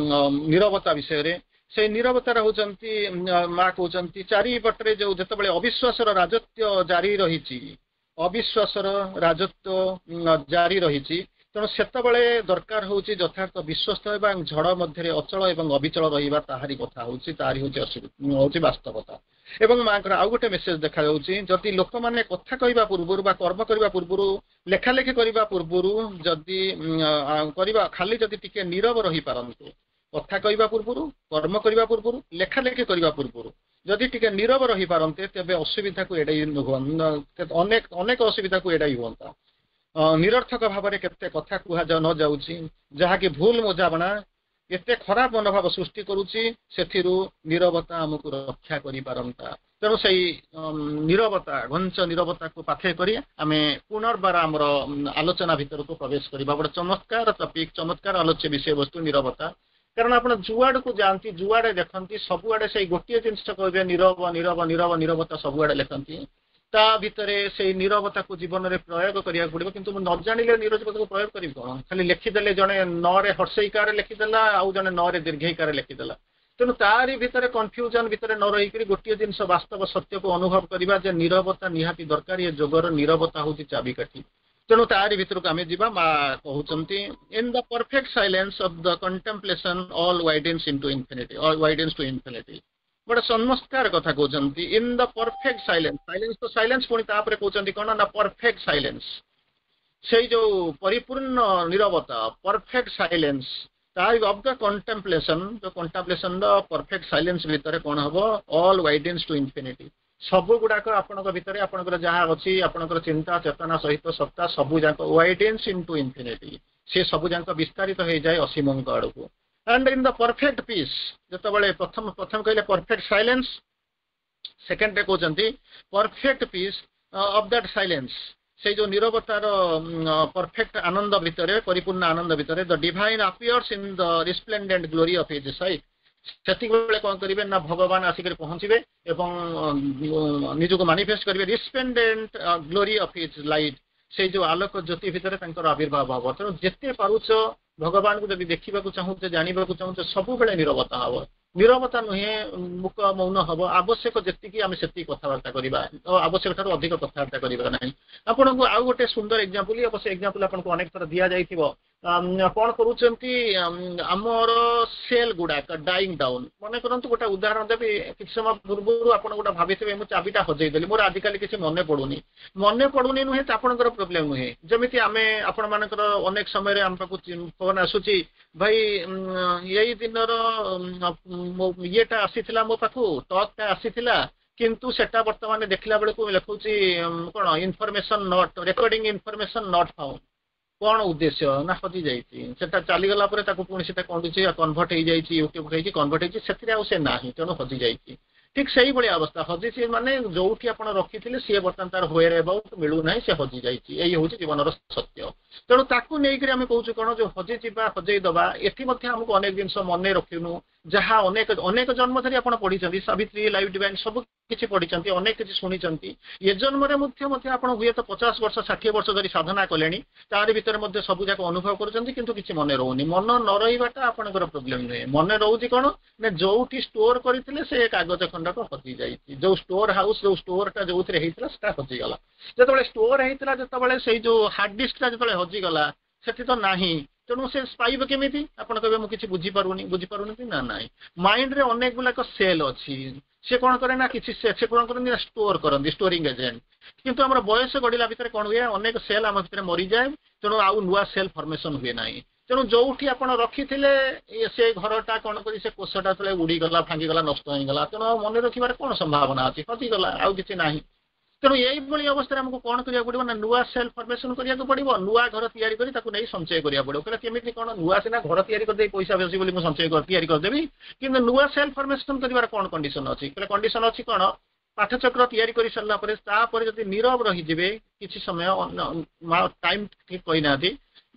ନିରବତା ବିଷୟରେ। ସେଇ ନିରବତାର ହଉଛନ୍ତି, ମା କହୁଛନ୍ତି, ଚାରିପଟରେ ଯୋଉ ଯେତେବେଳେ ଅବିଶ୍ୱାସର ରାଜତ୍ୱ ଜାରି ରହିଛି, ଅବିଶ୍ୱାସର ରାଜତ୍ୱ ଜାରି ରହିଛି, ତେଣୁ ସେତେବେଳେ ଦରକାର ହଉଛି ଯଥାର୍ଥ ବିଶ୍ୱସ୍ତ ହେବା ଏବଂ ଝଡ଼ ମଧ୍ୟରେ ଅଚଳ ଏବଂ ଅବିଚଳ ରହିବା। ତାହାରି କଥା ହଉଛି, ତାହାରି ହଉଛି ହଉଛି ବାସ୍ତବତା। ଏବଂ ମାଙ୍କର ଆଉ ଗୋଟେ ମେସେଜ ଦେଖାଯାଉଛି, ଯଦି ଲୋକମାନେ କଥା କହିବା ପୂର୍ବରୁ ବା କର୍ମ କରିବା ପୂର୍ବରୁ, ଲେଖାଲେଖି କରିବା ପୂର୍ବରୁ ଯଦି କରିବା, ଖାଲି ଯଦି ଟିକେ ନିରବ ରହିପାରନ୍ତେ, କଥା କହିବା ପୂର୍ବରୁ, କର୍ମ କରିବା ପୂର୍ବରୁ, ଲେଖାଲେଖି କରିବା ପୂର୍ବରୁ ଯଦି ଟିକେ ନିରବ ରହିପାରନ୍ତେ, ତେବେ ଅସୁବିଧାକୁ ଏଡ଼େଇ ଅନେକ ଅନେକ ଅସୁବିଧାକୁ ଏଡ଼ାଇ ହୁଅନ୍ତା। ନିରର୍ଥକ ଭାବରେ କେତେ କଥା କୁହାଯାଉ ନ ଯାଉଛି, ଯାହାକି ଭୁଲ ବୁଝାମଣା, ଏତେ ଖରାପ ମନୋଭାବ ସୃଷ୍ଟି କରୁଛି, ସେଥିରୁ ନିରବତା ଆମକୁ ରକ୍ଷା କରିପାରନ୍ତା। ତେଣୁ ସେଇ ନିରବତା, ଘଞ୍ଚ ନିରବତାକୁ ପାଥେୟ କରି ଆମେ ପୁନର୍ବାର ଆମର ଆଲୋଚନା ଭିତରକୁ ପ୍ରବେଶ କରିବା। ଗୋଟେ ଚମତ୍କାର ଟପିକ, ଚମତ୍କାର ଆଲୋଚ୍ୟ ବିଷୟବସ୍ତୁ ନିରବତା। କାରଣ ଆପଣ ଯୁଆଡକୁ ଯାଆନ୍ତି, ଯୁଆଡେ ଦେଖନ୍ତି, ସବୁଆଡେ ସେଇ ଗୋଟିଏ ଜିନିଷ କହିବେ, ନିରବ, ନିରବ, ନିରବ, ନିରବତା ସବୁଆଡେ ଲେଖନ୍ତି। ତା ଭିତରେ ସେଇ ନିରବତାକୁ ଜୀବନରେ ପ୍ରୟୋଗ କରିବାକୁ ପଡିବ। କିନ୍ତୁ ମୁଁ ନ ଜାଣିଲେ ନିରବତାକୁ ପ୍ରୟୋଗ କରିବି କଣ? ଖାଲି ଲେଖିଦେଲେ, ଜଣେ ନରେ ହର୍ସେଇକାରେ ଲେଖିଦେଲା, ଆଉ ଜଣେ ନରେ ଦୀର୍ଘେଇକାରେ ଲେଖିଦେଲା। ତେଣୁ ତାରି ଭିତରେ କନଫ୍ୟୁଜନ ଭିତରେ ନ ରହିକରି ଗୋଟିଏ ଜିନିଷ ବାସ୍ତବ ସତ୍ୟକୁ ଅନୁଭବ କରିବା ଯେ ନିରବତା ନିହାତି ଦରକାର। ଏ ଯୋଗର ନିରବତା ହଉଛି ଚାବିକାଠି। ତେଣୁ ତାରି ଭିତରକୁ ଆମେ ଯିବା। ମା କହୁଛନ୍ତି, "In the perfect silence of the contemplation all widens into infinity, all widens to infinity." ଗୋଟେ ଚମତ୍କାର କଥା କହୁଛନ୍ତି। In the perfect silence, silence ତ ସାଇଲେନ୍ସ, ପୁଣି ତାପରେ କହୁଛନ୍ତି କଣ ନା ପରଫେକ୍ଟ ସାଇଲେନ୍ସ, ସେଇ ଯୋଉ ପରିପୂର୍ଣ୍ଣ ନିରବତା, ପରଫେକ୍ଟ ସାଇଲେନ୍ସ ତାର ଅଫ the କଣ୍ଟେମ୍ପଲେସନ, ଯୋଉ କଣ୍ଟେମ୍ପଲେସନ ର ପରଫେକ୍ଟ ସାଇଲେନ୍ସ ଭିତରେ କଣ ହବ? All widens to infinity. ସବୁ ଗୁଡାକ ଆପଣଙ୍କ ଭିତରେ, ଆପଣଙ୍କର ଯାହା ଅଛି, ଆପଣଙ୍କର ଚିନ୍ତା ଚେତନା ସହିତ ସତ୍ତା ସବୁ ଯାକ ୱାଇଡେନ୍ସ ଇନଟୁ ଇନଫିନିଟି। ସେ ସବୁ ଯାକ ବିସ୍ତାରିତ ହେଇଯାଏ ଅସୀମଙ୍କ ଆଡକୁ। And in the perfect peace, ଯେତେବେଳେ ପ୍ରଥମ ପ୍ରଥମେ କହିଲେ ପରଫେକ୍ଟ ସାଇଲେନ୍ସ, ସେକେଣ୍ଡରେ କହୁଛନ୍ତି perfect peace of that silence, ସେଇ ଯୋଉ ନିରବତାର ପରଫେକ୍ଟ ଆନନ୍ଦ ଭିତରେ, ପରିପୂର୍ଣ୍ଣ ଆନନ୍ଦ ଭିତରେ, the Divine appears in the resplendent glory of his sight. ସେତିକି ବେଳେ କଣ କରିବେ ନା ଭଗବାନ ଆସିକରି ପହଞ୍ଚିବେ ଏବଂ ନିଜକୁ ମାନିଫେଷ୍ଟ କରିବେ resplendent glory of his light। ସେଇ ଯୋଉ ଆଲୋକ ଜ୍ୟୋତି ଭିତରେ ତାଙ୍କର ଆବିର୍ଭାବ ହବ। ତେଣୁ ଯେତେ ପାରୁଛ ଭଗବାନଙ୍କୁ ଯଦି ଦେଖିବାକୁ ଚାହୁଁଛ, ଜାଣିବାକୁ ଚାହୁଁଛ, ସବୁବେଳେ ନିରବତା ହବ। ନିରବତା ନୁହେଁ ମୁକ ମୌନ ହବ, ଆବଶ୍ୟକ ଯେତିକି ଆମେ ସେତିକି କଥାବାର୍ତ୍ତା କରିବା, ଆବଶ୍ୟକ ଠାରୁ ଅଧିକ କଥାବାର୍ତ୍ତା କରିବା ନାହିଁ। ଆପଣଙ୍କୁ ଆଉ ଗୋଟେ ସୁନ୍ଦର ଏକ୍ଜାମ୍ପଲ, ଅବଶ୍ୟ ଏକ୍ଜାମ୍ପଲ ଆପଣଙ୍କୁ ଅନେକ ଥର ଦିଆଯାଇଥିବ। କଣ କରୁଛନ୍ତି ଆମର ସେଲ୍ ଗୁଡାକ ଡାଇଂ ଡାଉନ୍। ମନେ କରନ୍ତୁ, ଗୋଟେ ଉଦାହରଣ ଦେବି। କିଛି ସମୟ ପୂର୍ବରୁ ଆପଣ ଗୋଟେ ଭାବିଥିବେ, ମୁଁ ଚାବିଟା ହଜେଇଦେଲି, ମୋର ଆଜିକାଲି କିଛି ମନେ ପଡୁନି। ମନେ ପଡୁନି ନୁହେଁ ତ ଆପଣଙ୍କର ପ୍ରୋବ୍ଲେମ ନୁହେଁ। ଯେମିତି ଆମେ ଆପଣମାନଙ୍କର ଅନେକ ସମୟରେ ଆମ ପାଖକୁ ଫୋନ ଆସୁଛି, ଭାଇ, ଏଇ ଦିନର ଇଏଟା ଆସିଥିଲା ମୋ ପାଖକୁ, ଟକ୍ଟା ଆସିଥିଲା, କିନ୍ତୁ ସେଟା ବର୍ତ୍ତମାନ ଦେଖିଲା ବେଳକୁ ଲେଖୁଛି କଣ, information not recording, information not found। କଣ ଉଦ୍ଦେଶ୍ୟ ନା ହଜି ଯାଇଛି ସେଟା। ଚାଲିଗଲା ପରେ ତାକୁ ପୁଣି ସେଟା କଣ ହେଇଛି, କନଭର୍ଟ ହେଇଯାଇଛି, ୟୁଟ୍ୟୁବ ହେଇଛି, କନଭର୍ଟ ହେଇଛି, ସେଥିରେ ଆଉ ସେ ନାହିଁ, ତେଣୁ ହଜି ଯାଇଛି। ଠିକ ସେଇଭଳି ଅବସ୍ଥା। ହଜିଛି ମାନେ ଯୋଉଠି ଆପଣ ରଖିଥିଲେ, ସିଏ ବର୍ତ୍ତମାନ ତାର ହ୍ୱେର ଏବାଉଟ ମିଳୁନାହିଁ, ସେ ହଜି ଯାଇଛି। ଏଇ ହଉଛି ଜୀବନର ସତ୍ୟ। ତେଣୁ ତାକୁ ନେଇକରି ଆମେ କହୁଛୁ କଣ, ଯୋଉ ହଜିଯିବା, ହଜେଇ ଦବା, ଏଠି ମଧ୍ୟ ଆମକୁ ଅନେକ ଜିନିଷ ମନେ ରଖିନୁ, ଯାହା ଅନେକ ଅନେକ ଜନ୍ମ ଧରି ଆପଣ ପଢିଛନ୍ତି, ସାବିତ୍ରୀ, ଲାଇଫ୍ ଡିଭାଇନ୍ ସବୁ କିଛି ପଢିଛନ୍ତି, ଅନେକ କିଛି ଶୁଣିଛନ୍ତି। ଏ ଜନ୍ମରେ ମଧ୍ୟ ମଧ୍ୟ ଆପଣ ହୁଏତ 50 ବର୍ଷ, 60 ବର୍ଷ ଧରି ସାଧନା କଲେଣି, ତାରି ଭିତରେ ମଧ୍ୟ ସବୁ ଯାକ ଅନୁଭବ କରୁଛନ୍ତି, କିନ୍ତୁ କିଛି ମନେ ରହୁନି। ମନ ନ ରହିବାଟା ଆପଣଙ୍କର ପ୍ରୋବ୍ଲେମ ନୁହେଁ। ମନେ ରହୁଛି କଣ ନା ଯୋଉଠି ଷ୍ଟୋର କରିଥିଲେ, ସେ କାଗଜ ଖଣ୍ଡକ ହଜି ଯାଇଛି। ଯୋଉ ଷ୍ଟୋର ହାଉସ, ଯୋଉ ଷ୍ଟୋରଟା ଯୋଉଥିରେ ହେଇଥିଲା, ସେଟା ହଜିଗଲା। ଯେତେବେଳେ ଷ୍ଟୋର ହେଇଥିଲା, ଯେତେବେଳେ ସେଇ ଯୋଉ ହାର୍ଡ ଡିସ୍କଟା ଯେତେବେଳେ ହଜିଗଲା, ସେଠି ତ ନାହିଁ, ତେଣୁ ସେ ପାଇବ କେମିତି? ଆପଣ କହିବେ, ମୁଁ କିଛି ବୁଝିପାରୁନି। ବୁଝିପାରୁନି କି ନା ନାହିଁ, ମାଇଣ୍ଡରେ ଅନେକ ଗୁଡାକ ସେଲ୍ ଅଛି। ସେ କଣ କରେ ନା କିଛି ସେ କଣ କରନ୍ତି ନା ଷ୍ଟୋର କରନ୍ତି, ଷ୍ଟୋରିଂ ଏଜେଣ୍ଟ। କିନ୍ତୁ ଆମର ବୟସ ଗଢିଲା ଭିତରେ କଣ ହୁଏ? ଅନେକ ସେଲ୍ ଆମ ଭିତରେ ମରିଯାଏ, ତେଣୁ ଆଉ ନୂଆ ସେଲ୍ ଫର୍ମେସନ ହୁଏ ନାହିଁ। ତେଣୁ ଯୋଉଠି ଆପଣ ରଖିଥିଲେ, ସେ ଘରଟା କଣ କରି, ସେ କୋଷଟା ଯେତେବେଳେ ଉଡିଗଲା, ଭାଙ୍ଗିଗଲା, ନଷ୍ଟ ହେଇଗଲା, ତେଣୁ ଆଉ ମନେ ରଖିବାର କଣ ସମ୍ଭାବନା ଅଛି? ହଜିଗଲା, ଆଉ କିଛି ନାହିଁ। ତେଣୁ ଏଇଭଳି ଅବସ୍ଥାରେ ଆମକୁ କଣ କରିବାକୁ ପଡିବ ନା ନୂଆ ସେଲ୍ ଫର୍ମେସନ କରିବାକୁ ପଡିବ, ନୂଆ ଘର ତିଆରି କରି ତାକୁ ନେଇ ସଞ୍ଚୟ କରିବାକୁ ପଡିବ। କହିଲେ କେମିତି କଣ? ନୂଆ ସିନା ଘର ତିଆରି କରିଦେଇ ପଇସା ବେଶୀ ବୋଲି ମୁଁ ସଞ୍ଚୟ ତିଆରି କରିଦେବି, କିନ୍ତୁ ନୂଆ ସେଲ୍ ଫର୍ମେସନ କରିବାର କଣ କଣ୍ଡିସନ ଅଛି? କହିଲେ କଣ୍ଡିସନ ଅଛି କଣ, ପାଠଚକ୍ର ତିଆରି କରି ସାରିଲା ପରେ ତାପରେ ଯଦି ନିରବ ରହିଯିବେ କିଛି ସମୟ, ଟାଇମ ଠିକ କହିନାହାନ୍ତି,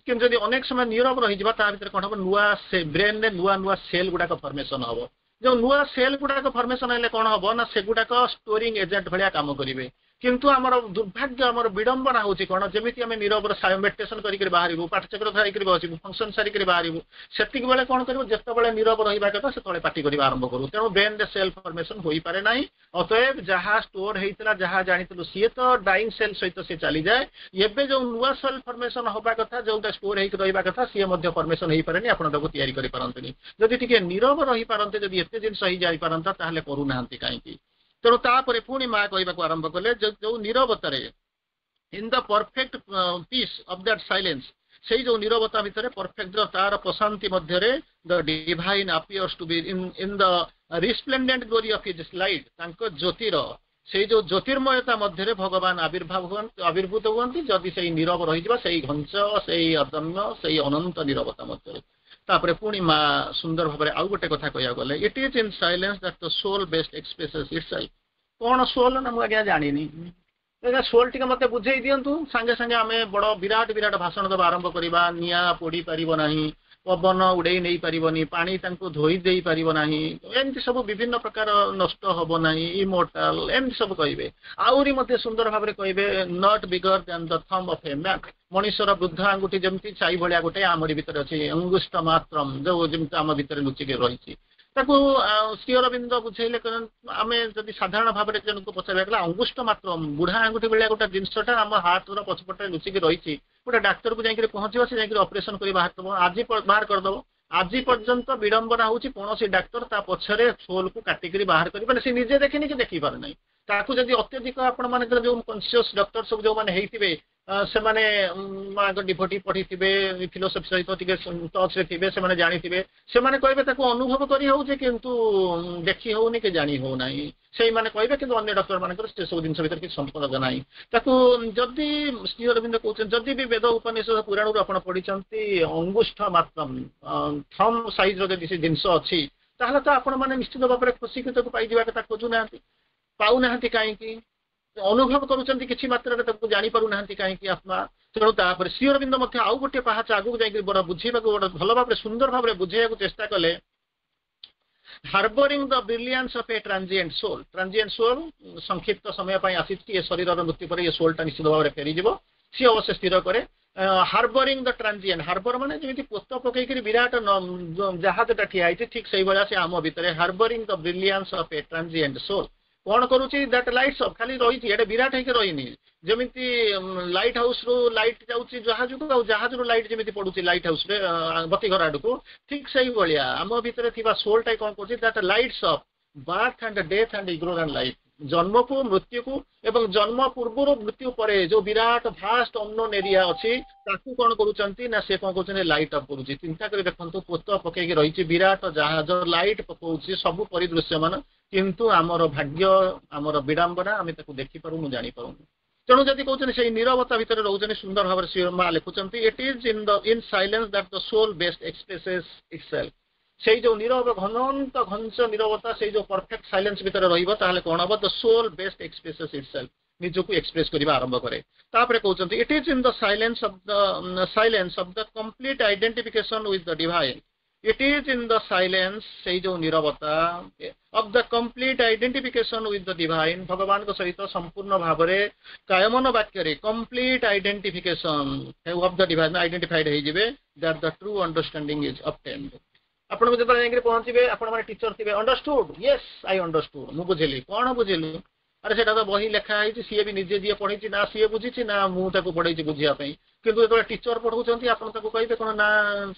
କିନ୍ତୁ ଯଦି ଅନେକ ସମୟ ନିରବ ରହିଯିବା, ତା ଭିତରେ କଣ ହବ? ନୂଆ ସେ ବ୍ରେନରେ ନୂଆ ନୂଆ ସେଲ୍ ଗୁଡାକ ଫର୍ମେସନ ହବ। ଯୋଉ ନୂଆ ସେଲ୍ ଗୁଡାକ ଫର୍ମେସନ ହେଲେ କଣ ହବ ନା ସେଗୁଡାକ ଷ୍ଟୋରିଂ ଏଜେଣ୍ଟ ଭଳିଆ କାମ କରିବେ। କିନ୍ତୁ ଆମର ଦୁର୍ଭାଗ୍ୟ, ଆମର ବିଡମ୍ବନା ହଉଛି କଣ, ଯେମିତି ଆମେ ନିରବର ମେଡିଟେସନ କରିକି ବାହାରିବୁ, ପାଠଚକ୍ର ସାରିକିରି ବସିବୁ, ଫଙ୍କସନ ସାରିକିରି ବାହାରିବୁ, ସେତିକି ବେଳେ କଣ କରିବୁ? ଯେତେବେଳେ ନିରବ ରହିବା କଥା, ସେତେବେଳେ ପାଟି କରିବା ଆରମ୍ଭ କରୁ। ତେଣୁ ବ୍ରେନରେ ସେଲ୍ ଫର୍ମେସନ ହୋଇପାରେ ନାହିଁ। ଅତଏବ ଯାହା ଷ୍ଟୋର ହେଇଥିଲା, ଯାହା ଜାଣିଥିଲୁ, ସିଏ ତ ଡାଇଂ ସେଲ୍ ସହିତ ସିଏ ଚାଲିଯାଏ। ଏବେ ଯୋଉ ନୂଆ ସେଲ୍ ଫର୍ମେସନ ହବା କଥା, ଯୋଉଟା ଷ୍ଟୋର ହେଇକି ରହିବା କଥା, ସିଏ ମଧ୍ୟ ଫର୍ମେସନ ହେଇପାରେନି। ଆପଣ ତାକୁ ତିଆରି କରିପାରନ୍ତିନି। ଯଦି ଟିକେ ନିରବ ରହିପାରନ୍ତେ, ଯଦି ଏତେ ଜିନିଷ ହେଇଯାଇପାରନ୍ତା, ତାହେଲେ କରୁନାହାନ୍ତି କାହିଁକି? ତେଣୁ ତାପରେ ପୁଣି ମା କହିବାକୁ ଆରମ୍ଭ କଲେ, ଯୋଉ ନିରବତାରେ, in the perfect peace of that silence, ସେଇ ଯୋଉ ନିରବତା ଭିତରେ, ପରଫେକ୍ଟ ତାର ପ୍ରଶାନ୍ତି ମଧ୍ୟରେ, the Divine appears to be in the resplendent glory of his light। ତାଙ୍କ ଜ୍ୟୋତିର ସେଇ ଯୋଉ ଜ୍ୟୋତିର୍ମୟତା ମଧ୍ୟରେ ଭଗବାନ ଆବିର୍ଭାବ ହୁଅନ୍ତି, ଆବିର୍ଭୂତ ହୁଅନ୍ତି, ଯଦି ସେଇ ନିରବ ରହିଯିବା, ସେଇ ଘଞ୍ଚ, ସେଇ ଅଦମ୍ୟ, ସେଇ ଅନନ୍ତ ନିରବତା ମଧ୍ୟରେ। ତାପରେ ପୁଣି ମା ସୁନ୍ଦର ଭାବରେ ଆଉ ଗୋଟେ କଥା କହିବାକୁ ଗଲେ, it is in silence that the soul best expresses itself। କଣ ସୋଲ ନା ମୁଁ ଆଜ୍ଞା ଜାଣିନି, ଆଜ୍ଞା, ସୋଲ ଟିକେ ମତେ ବୁଝେଇ ଦିଅନ୍ତୁ। ସାଙ୍ଗେ ସାଙ୍ଗେ ଆମେ ବଡ ବିରାଟ ବିରାଟ ଭାଷଣ ଦେବା ଆରମ୍ଭ କରିବା। ନିଆଁ ପୋଡି ପାରିବ ନାହିଁ, ପବନ ଉଡେଇ ନେଇ ପାରିବନି, ପାଣି ତାଙ୍କୁ ଧୋଇ ଦେଇ ପାରିବ ନାହିଁ, ଏମିତି ସବୁ ବିଭିନ୍ନ ପ୍ରକାର, ନଷ୍ଟ ହବ ନାହିଁ, ଇମୋର୍ଟାଲ, ଏମିତି ସବୁ କହିବେ। ଆହୁରି ମଧ୍ୟ ସୁନ୍ଦର ଭାବରେ କହିବେ, not bigger than the thumb of a man। ମଣିଷର ବୃଦ୍ଧ ଆଙ୍ଗୁଠି ଯେମିତି ଛାଇ ଭଳିଆ ଗୋଟେ ଆମରି ଭିତରେ ଅଛି, ଅଙ୍ଗୁଷ୍ଠ ମାତ୍ରମ, ଯୋଉ ଯେମିତି ଆମ ଭିତରେ ଲୁଚିକି ରହିଛି। ତାକୁ ଶ୍ରୀ ଅରବିନ୍ଦ ବୁଝେଇଲେ, ଆମେ ଯଦି ସାଧାରଣ ଭାବରେ ଜଣକୁ ପଚାରିବା, ଗଲା ଅଙ୍ଗୁଷ୍ଠ ମାତ୍ର, ବୁଢା ଆଙ୍ଗୁଠି ଭଳିଆ ଗୋଟେ ଜିନିଷଟା ଆମ ହାର୍ଟର ପଛପଟରେ ଲୁଚିକି ରହିଛି, ଗୋଟେ ଡାକ୍ତରକୁ ଯାଇକରି ପହଞ୍ଚିବ, ସେ ଯାଇକରି ଅପରେସନ କରି ବାହାର କରିଦବ, ଆଜି ବାହାର କରିଦବ। ଆଜି ପର୍ଯ୍ୟନ୍ତ ବିଡମ୍ବନା ହଉଛି, କୌଣସି ଡାକ୍ତର ତା ପଛରେ ସୋଲକୁ କାଟିକିରି ବାହାର କରିପାରେ ସେ ନିଜେ ଦେଖିନି କି ଦେଖିପାରେ ନାହିଁ। ତାକୁ ଯଦି ଅତ୍ୟଧିକ ଆପଣ ମାନଙ୍କର ଯୋଉ କନସିୟସ ଡକ୍ଟର ସବୁ ଯୋଉମାନେ ହେଇଥିବେ, ସେମାନେ ମାଙ୍କ ଡିଭୋଟି, ପଢିଥିବେ, ଫିଲୋସଫି ସହିତ ଟିକେ ଟଚରେ ଥିବେ, ସେମାନେ ଜାଣିଥିବେ। ସେମାନେ କହିବେ, ତାକୁ ଅନୁଭବ କରି ହଉଛି କିନ୍ତୁ ଦେଖି ହଉନି କି ଜାଣି ହଉନାହିଁ, ସେଇମାନେ କହିବେ। କିନ୍ତୁ ଅନ୍ୟ ଡକ୍ଟର ମାନଙ୍କର ସେ ସବୁ ଜିନିଷ ଭିତରେ କିଛି ସମ୍ପର୍କ ନାହିଁ। ତାକୁ ଯଦି ଶ୍ରୀ ଅରବିନ୍ଦ କହୁଛନ୍ତି, ଯଦି ବି ବେଦ, ଉପନିଷଦ, ପୁରାଣରୁ ଆପଣ ପଢିଛନ୍ତି, ଅଙ୍ଗୁଷ୍ଠ ମାତ୍ର, ଥମ୍ ସାଇଜର ଯଦି ସେ ଜିନିଷ ଅଛି, ତାହେଲେ ତ ଆପଣ ମାନେ ନିଶ୍ଚିତ ଭାବରେ ଖୁସିକି ତାକୁ ପାଇଯିବା କଥା। ଖୋଜୁନାହାନ୍ତି, ପାଉନାହାନ୍ତି କାହିଁକି? ଅନୁଭବ କରୁଛନ୍ତି କିଛି ମାତ୍ରାରେ, ତାକୁ ଜାଣିପାରୁନାହାନ୍ତି କାହିଁକି ଆତ୍ମା? ତେଣୁ ତାପରେ ଶ୍ରୀ ଅରବିନ୍ଦ ମଧ୍ୟ ଆଉ ଗୋଟିଏ ପାହାଚ ଆଗକୁ ଯାଇକି ବଡ ବୁଝେଇବାକୁ, ବଡ ଭଲ ଭାବରେ, ସୁନ୍ଦର ଭାବରେ ବୁଝେଇବାକୁ ଚେଷ୍ଟା କଲେ। Harbouring the brilliance of a transient soul। Transient soul, ସଂକ୍ଷିପ୍ତ ସମୟ ପାଇଁ ଆସିଛି। ଏ ଶରୀରର ମୃତ୍ୟୁ ପରେ ଏ ସୋଲଟା ନିଶ୍ଚିତ ଭାବରେ ଫେରିଯିବ, ସିଏ ଅବଶ୍ୟ ସ୍ଥିର କରେ। ହାର୍ବରିଂ ଦ ଟ୍ରାନଜିଏଣ୍ଟ, ହାର୍ବର ମାନେ ଯେମିତି ପୋତ ପକେଇକିରି ବିରାଟ ଜାହାଜଟା ଠିଆ ହେଇଛି, ଠିକ ସେଇଭଳିଆ ସେ ଆମ ଭିତରେ harbouring the brilliance of a transient soul କଣ କରୁଛି? That lights of, ଖାଲି ରହିଛି, ଏଇଟା ବିରାଟ ହେଇକି ରହିନି। ଯେମିତି ଲାଇଟ୍ ହାଉସ ରୁ ଲାଇଟ୍ ଯାଉଛି ଜାହାଜକୁ ଆଉ ଜାହାଜରୁ ଲାଇଟ୍ ଯେମିତି ପଡୁଛି ଲାଇଟ୍ ହାଉସରେ ବତି ଘର ଆଡକୁ, ଠିକ ସେଇଭଳିଆ ଆମ ଭିତରେ ଥିବା ସୋଲଟା କଣ କରୁଛି? That lights up birth and death and ignorant life। ଜନ୍ମକୁ, ମୃତ୍ୟୁକୁ ଏବଂ ଜନ୍ମ ପୂର୍ବରୁ ମୃତ୍ୟୁ ପରେ ଯୋଉ ବିରାଟ ଭାଷ୍ଟ ଅନନୋନ୍ ଏରିଆ ଅଛି, ତାକୁ କଣ କରୁଛନ୍ତି ନା ସେ କଣ କରୁଛନ୍ତି? ଲାଇଟ୍ ଅପ୍ କରୁଛି। ଚିନ୍ତା କରି ଦେଖନ୍ତୁ, ପୋତ ପକେଇକି ରହିଛି ବିରାଟ ଜାହାଜ, ଲାଇଟ୍ ପକଉଛି ସବୁ ପରିଦୃଶ୍ୟମାନ, କିନ୍ତୁ ଆମର ଭାଗ୍ୟ, ଆମର ବିଡ଼ମ୍ବନା, ଆମେ ତାକୁ ଦେଖିପାରୁନୁ, ଜାଣିପାରୁନୁ। ତେଣୁ ଯଦି କହୁଛନ୍ତି, ସେଇ ନିରବତା ଭିତରେ ରହୁଛନ୍ତି, ସୁନ୍ଦର ଭାବରେ ଶ୍ରୀ ମା ଲେଖୁଛନ୍ତି, "It is in silence that the soul best expresses itself." ସେଇ ଯୋଉ ନିରବ, ଘନନ୍ତ ଘଞ୍ଚ ନିରବତା, ସେଇ ଯୋଉ ପରଫେକ୍ଟ ସାଇଲେନ୍ସ ଭିତରେ ରହିବ, ତାହେଲେ କଣ ହବ? The soul best expresses itself, ନିଜକୁ ଏକ୍ସପ୍ରେସ କରିବା ଆରମ୍ଭ କରେ। ତାପରେ କହୁଛନ୍ତି, "It is in the silence of the complete identification with the divine." It is in the silence, ସେଇ ଯୋଉ ନିରବତା, of the complete identification with the divine, ଭଗବାନଙ୍କ ସହିତ ସମ୍ପୂର୍ଣ୍ଣ ଭାବରେ, କାୟମନ ବାକ୍ୟରେ complete identification of the divine, identified ହେଇଯିବେ, that the true understanding is obtained। ଆପଣଙ୍କୁ ଯେତେବେଳେ ଯାଇକିରି ପହଞ୍ଚିବେ, ଆପଣ ମାନେ ଟିଚର ଥିବେ, "Understood?" "Yes, I understood." ମୁଁ ବୁଝିଲି। କଣ ବୁଝିଲୁ? ଆରେ, ସେଇଟା ତ ବହି ଲେଖା ହେଇଛି। ସିଏ ବି ନିଜେ ଯିଏ ପଢିଛି ନା ସିଏ ବୁଝିଛି ନା ମୁଁ ତାକୁ ପଢେଇଛି ବୁଝିବା ପାଇଁ। କିନ୍ତୁ ଯେତେବେଳେ ଟିଚର ପଢଉଛନ୍ତି, ଆପଣ ତାକୁ କହିବେ କଣ ନା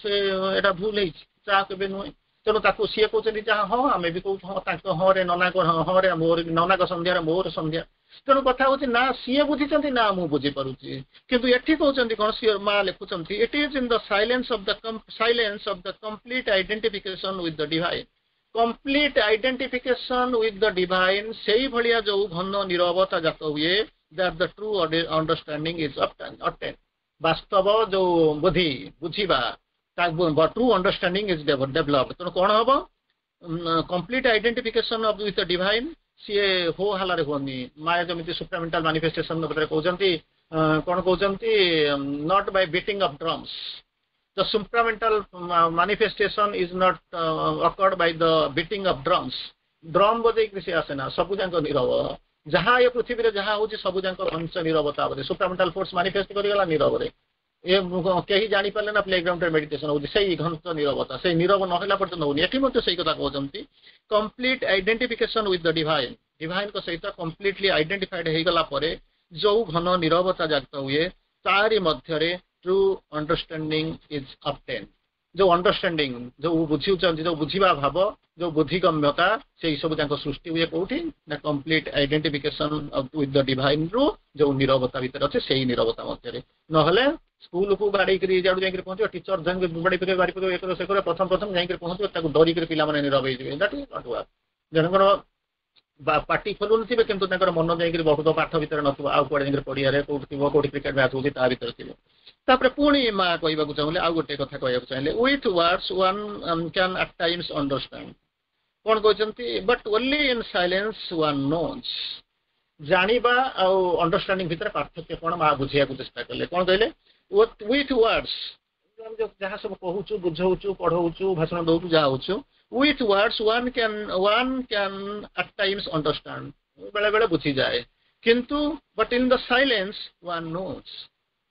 ସେ ଏଇଟା ଭୁଲ ହେଇଛି? ତାହା କେବେ ନୁହେଁ। ତେଣୁ ତାକୁ ସିଏ କହୁଛନ୍ତି ଯାହା ହଁ, ଆମେ ବି କହୁଛୁ ହଁ। ତାଙ୍କ ହଁ ରେ ନନାଙ୍କ ହଁ ରେ ମୋର, ନନାଙ୍କ ସନ୍ଧ୍ୟାରେ ମୋର ସନ୍ଧ୍ୟା। ତେଣୁ କଥା ହଉଛି, ନା ସିଏ ବୁଝିଛନ୍ତି ନା ମୁଁ ବୁଝିପାରୁଛି। କିନ୍ତୁ ଏଠି କହୁଛନ୍ତି କଣ? ସିଏ ମା ଲେଖୁଛନ୍ତି, "It is in the silence of the complete identification with the divine." Complete identification with the divine, ସେଇଭଳିଆ ଯୋଉ ଘନ ନିରବତା ଜାତ ହୁଏ, that the true understanding is obtained। ବାସ୍ତବ ଯୋଉ ବୁଦ୍ଧି, ବୁଝିବା, true understanding is develop। ତେଣୁ କଣ ହବ? Complete identification of with the divine, ସିଏ ହୋ ହାଲାରେ ହୁଅନି। ମାୟା ଯେମିତି ସୁପ୍ରାମେଣ୍ଟାଲ ମାନିଫେଷ୍ଟେସନ ଭିତରେ କହୁଛନ୍ତି, କଣ କହୁଛନ୍ତି? Not by beating of drums. The supramental manifestation is not occurred by the beating of drums। Drum ବଜେଇକି ସେ ଆସେ ନା, ସବୁ ଯାକ ନିରବ। ଯାହା ଏ ପୃଥିବୀରେ ଯାହା ହଉଛି, ସବୁ ଯାକ ଘଞ୍ଚ ନିରବତା ବୋଧେ। ସୁପ୍ରାମେଣ୍ଟାଲ ଫୋର୍ସ ମାନିଫେଷ୍ଟ କରିଗଲା ନିରବରେ, ଏ କେହି ଜାଣିପାରିଲେ ନା ପ୍ଲେ ଗ୍ରାଉଣ୍ଡରେ ମେଡିଟେସନ ହଉଛି। ସେଇ ଘଞ୍ଚ ନିରବତା, ସେଇ ନିରବ ନହେଲା ପର୍ଯ୍ୟନ୍ତ ହଉନି। ଏଠି ମଧ୍ୟ ସେଇ କଥା କହୁଛନ୍ତି, complete identification with the divine। ଡିଭାଇନଙ୍କ ସହିତ କମ୍ପ୍ଲିଟଲି ଆଇଡେଣ୍ଟିଫାଇଡ ହେଇଗଲା ପରେ ଯୋଉ ଘନ ନିରବତା ଜାତ ହୁଏ, ତାରି ମଧ୍ୟରେ true understanding is obtained। ଯୋଉ ଅଣ୍ଡରଷ୍ଟାଣ୍ଡିଂ, ଯୋଉ ବୁଝୁଛନ୍ତି, ଯୋଉ ବୁଝିବା ଭାବ, ଯୋଉ ବୁଦ୍ଧିଗମ୍ୟତା, ସେଇ ସବୁ ଯାକ ସୃଷ୍ଟି ହୁଏ କୋଉଠି ନା complete identification with the divine ରୁ ଯୋଉ ନିରବତା ଭିତରେ ଅଛି, ସେଇ ନିରବତା ମଧ୍ୟରେ। ନହେଲେ ସ୍କୁଲକୁ ବାଡେଇକିରି ଯାଡୁ ଯାଇକିରି ପହଞ୍ଚିବ, ଟିଚର ଯାଇକି ବାଡେଇ ପକେଇବେ, ବାଡି ପକେଇବେ, ଏ ସେ କରିବ, ପ୍ରଥମ ପ୍ରଥମ ଯାଇକିରି ପହଞ୍ଚିବ, ତାକୁ ଡରିକିରି ପିଲାମାନେ ନିରବ ହେଇଯିବେ। That is not work। ଜଣଙ୍କର ପାଟି ଖୋଲୁନଥିବେ, କିନ୍ତୁ ତାଙ୍କର ମନ ଯାଇକିରି ବହୁତ ପାଠ ଭିତରେ ନଥିବ, ଆଉ କୁଆଡେ ଯାଇକିରି ପଡିଆରେ କୋଉଠି ଥିବ, କୋଉଠି କ୍ରିକେଟ ମ୍ୟାଚ୍ ହଉଛି ତା ଭିତରେ ଥିବ। ତାପରେ ପୁଣି ମା କହିବାକୁ ଚାହିଁଲେ, ଆଉ ଗୋଟେ କଥା କହିବାକୁ ଚାହିଁଲେ, "With words one can at times understand." କଣ କହୁଛନ୍ତି? "But only in silence one knows." ଜାଣିବା ଆଉ ଅଣ୍ଡରଷ୍ଟାଣ୍ଡିଂ ଭିତରେ ପାର୍ଥକ୍ୟ କଣ, ମା ବୁଝେଇବାକୁ ଚେଷ୍ଟା କଲେ। କଣ କହିଲେ? ୱିଥ୍ ୱାର୍ଡସ୍, ଆମେ ଯାହା ସବୁ କହୁଛୁ, ବୁଝଉଛୁ, ପଢଉଛୁ, ଭାଷଣ ଦଉଛୁ, ଯାହା ହଉଛୁ, with words one can at times understand, ବେଳେ ବେଳେ ବୁଝିଯାଏ, କିନ୍ତୁ but in the silence one knows।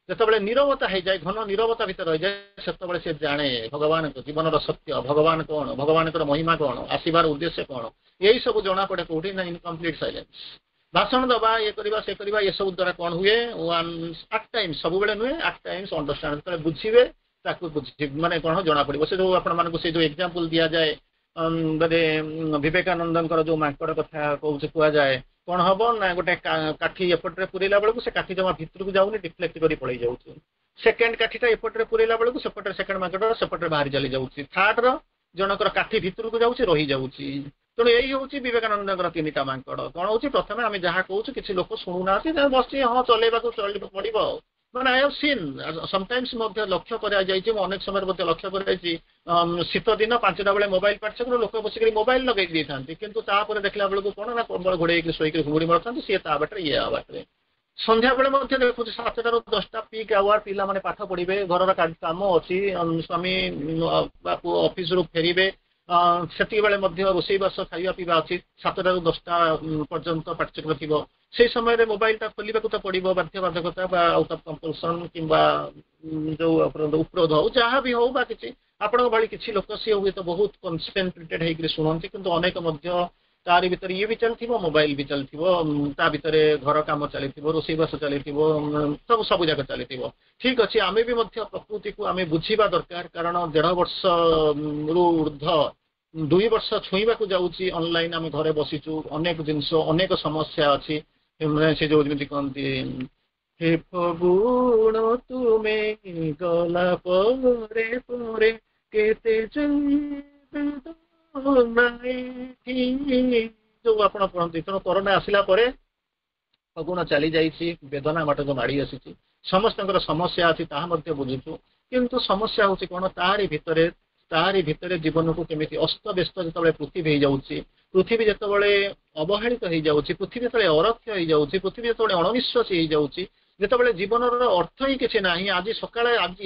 ଯେତେବେଳେ ନିରବତା ହେଇଯାଏ, ଘନ ନିରବତା ଭିତରେ ରହିଯାଏ, ସେତେବେଳେ ସେ ଜାଣେ ଭଗବାନଙ୍କ ଜୀବନର ସତ୍ୟ, ଭଗବାନ କଣ, ଭଗବାନଙ୍କର ମହିମା କଣ, ଆସିବାର ଉଦ୍ଦେଶ୍ୟ କଣ, ଏଇ ସବୁ ଜଣା ପଡେ କୋଉଠି ନା ଇନ୍ କମ୍ପ୍ଲିଟ ସାଇଲେନ୍ସ। ଭାଷଣ ଦବା, ଇଏ କରିବା, ସେ କରିବା, ଏସବୁ ଦ୍ୱାରା କଣ ହୁଏ? ୱାନ୍ ଆଟ୍ ଟାଇମ୍ସ, ସବୁବେଳେ ନୁହେଁ, ଆଟ୍ ଟାଇମ୍ସ ଅଣ୍ଡରଷ୍ଟାଣ୍ଡ। ଯେତେବେଳେ ବୁଝିବେ, ତାକୁ ବୁଝି ମାନେ କଣ ଜଣା ପଡିବ। ସେ ଯୋଉ ଆପଣମାନଙ୍କୁ ସେ ଯୋଉ ଏକ୍ଜାମ୍ପଲ ଦିଆଯାଏ, ମାନେ ବିବେକାନନ୍ଦଙ୍କର ଯୋଉ ମାଙ୍କଡ କଥା କହୁଛି, କୁହାଯାଏ। କଣ ହବ ନା, ଗୋଟେ କାଠି ଏପଟରେ ପୁରେଇଲା ବେଳକୁ ସେ କାଠି ଜମା ଭିତରକୁ ଯାଉନି, ଡିଫ୍ଲେକ୍ଟ କରି ପଳେଇ ଯାଉଛି। ସେକେଣ୍ଡ କାଠିଟା ଏପଟରେ ପୁରେଇଲା ବେଳକୁ ସେପଟରେ ସେକେଣ୍ଡ ମାଙ୍କଡ ସେପଟରେ ବାହାରି ଚାଲି ଯାଉଛି। ଥାର୍ଡ ର ଜଣଙ୍କର କାଠି ଭିତରକୁ ଯାଉଛି, ରହିଯାଉଛି। ତେଣୁ ଏଇ ହଉଛି ବିବେକାନନ୍ଦଙ୍କର ତିନିଟା ମାଙ୍କଡ। କଣ ହଉଛି? ପ୍ରଥମେ ଆମେ ଯାହା କହୁଛୁ, କିଛି ଲୋକ ଶୁଣୁନାହାନ୍ତି, ବସିଛି, ହଁ, ଚଲେଇବାକୁ ପଡିବ। ମାନେ I have seen sometimes, ମଧ୍ୟ ଲକ୍ଷ୍ୟ କରାଯାଇଛି, ମୁଁ ଅନେକ ସମୟରେ ମଧ୍ୟ ଲକ୍ଷ୍ୟ କରାଯାଇଛି, ଶୀତ ଦିନ 5ଟା ବେଳେ ମୋବାଇଲ ପାଠଚକ୍ର, ଲୋକ ବସିକରି ମୋବାଇଲ ଲଗେଇ ଦେଇଥାନ୍ତି। କିନ୍ତୁ ତାପରେ ଦେଖିଲା ବେଳକୁ କଣ ନା, କମ୍ବଳ ଘୋଡେଇକି ଶୋଇକରି ଘୁଙ୍ଗୁଡି ମାରୁଥାନ୍ତି, ସିଏ ତା ବାଟରେ, ଇଏ ଆ ବାଟରେ। ସନ୍ଧ୍ୟାବେଳେ ମଧ୍ୟ ଦେଖୁଛି, 7ଟାରୁ 10ଟା ପିକ୍ ଆୱାର, ପିଲାମାନେ ପାଠ ପଢିବେ, ଘରର କାମ ଅଛି, ସ୍ୱାମୀ ବା ପୁଅ ଅଫିସରୁ ଫେରିବେ, ସେତିକି ବେଳେ ମଧ୍ୟ ରୋଷେଇବାସ, ଖାଇବା ପିଇବା ଅଛି। 7ଟାରୁ 10ଟା ପର୍ଯ୍ୟନ୍ତ ପାଠଚକ୍ର ଥିବ। ସେଇ ସମୟରେ ମୋବାଇଲଟା ଖୋଲିବାକୁ ତ ପଡିବ, ବାଧ୍ୟବାଧକତା ବା ଆଉଟ ଅଫ୍ କମ୍ପଲସନ କିମ୍ବା ଯୋଉ ଉପରୋଧ ହଉ, ଯାହା ବି ହଉ। ବା କିଛି ଆପଣଙ୍କ ଭଳି କିଛି ଲୋକ, ସିଏ ହୁଏତ ବହୁତ କନସେନ୍ଟ୍ରେଟେଡ ହେଇକରି ଶୁଣନ୍ତି। କିନ୍ତୁ ଅନେକ ମଧ୍ୟ ତାରି ଭିତରେ ଇଏ ବି ଚାଲିଥିବ, ମୋବାଇଲ ବି ଚାଲିଥିବ, ତା ଭିତରେ ଘର କାମ ଚାଲିଥିବ, ରୋଷେଇବାସ ଚାଲିଥିବ, ସବୁ ସବୁ ଯାକ ଚାଲିଥିବ। ଠିକ ଅଛି, ଆମେ ବି ମଧ୍ୟ ପ୍ରକୃତିକୁ ଆମେ ବୁଝିବା ଦରକାର। କାରଣ ଦେଢ଼ ବର୍ଷରୁ ଉର୍ଦ୍ଧ୍ୱ, 2 ବର୍ଷ ଛୁଇଁବାକୁ ଯାଉଛି, ଅନଲାଇନ ଆମେ ଘରେ ବସିଛୁ। ଅନେକ ଜିନିଷ, ଅନେକ ସମସ୍ୟା ଅଛି। ସେ ଯୋଉ ଯେମିତି କହନ୍ତି, "ହେ ଫଗୁଣ, ତୁମେ ଗଲା ପରେ ପରେ କେତେ ଯୋଉ ଆପଣ ପଢନ୍ତି। ତେଣୁ କରୋନା ଆସିଲା ପରେ ଫଗୁଣ ଚାଲି ଯାଇଛି, ବେଦନା ବାଟକୁ ମାଡ଼ି ଆସିଛି। ସମସ୍ତଙ୍କର ସମସ୍ୟା ଅଛି, ତାହା ମଧ୍ୟ ବୁଝୁଛୁ। କିନ୍ତୁ ସମସ୍ୟା ହଉଛି କଣ, ତାରି ଭିତରେ ଜୀବନକୁ କେମିତି, ଅସ୍ତବ୍ୟସ୍ତ ଯେତେବେଳେ ପୃଥିବୀ ହେଇଯାଉଛି, ପୃଥିବୀ ଯେତେବେଳେ ଅବହେଳିତ ହେଇଯାଉଛି, ପୃଥିବୀ ଯେତେବେଳେ ଅରକ୍ଷ ହେଇଯାଉଛି, ପୃଥିବୀ ଯେତେବେଳେ ଅଣନିଶ୍ୱାସୀ ହେଇଯାଉଛି, ଯେତେବେଳେ ଜୀବନର ଅର୍ଥ ହିଁ କିଛି ନାହିଁ, ଆଜି ସକାଳେ, ଆଜି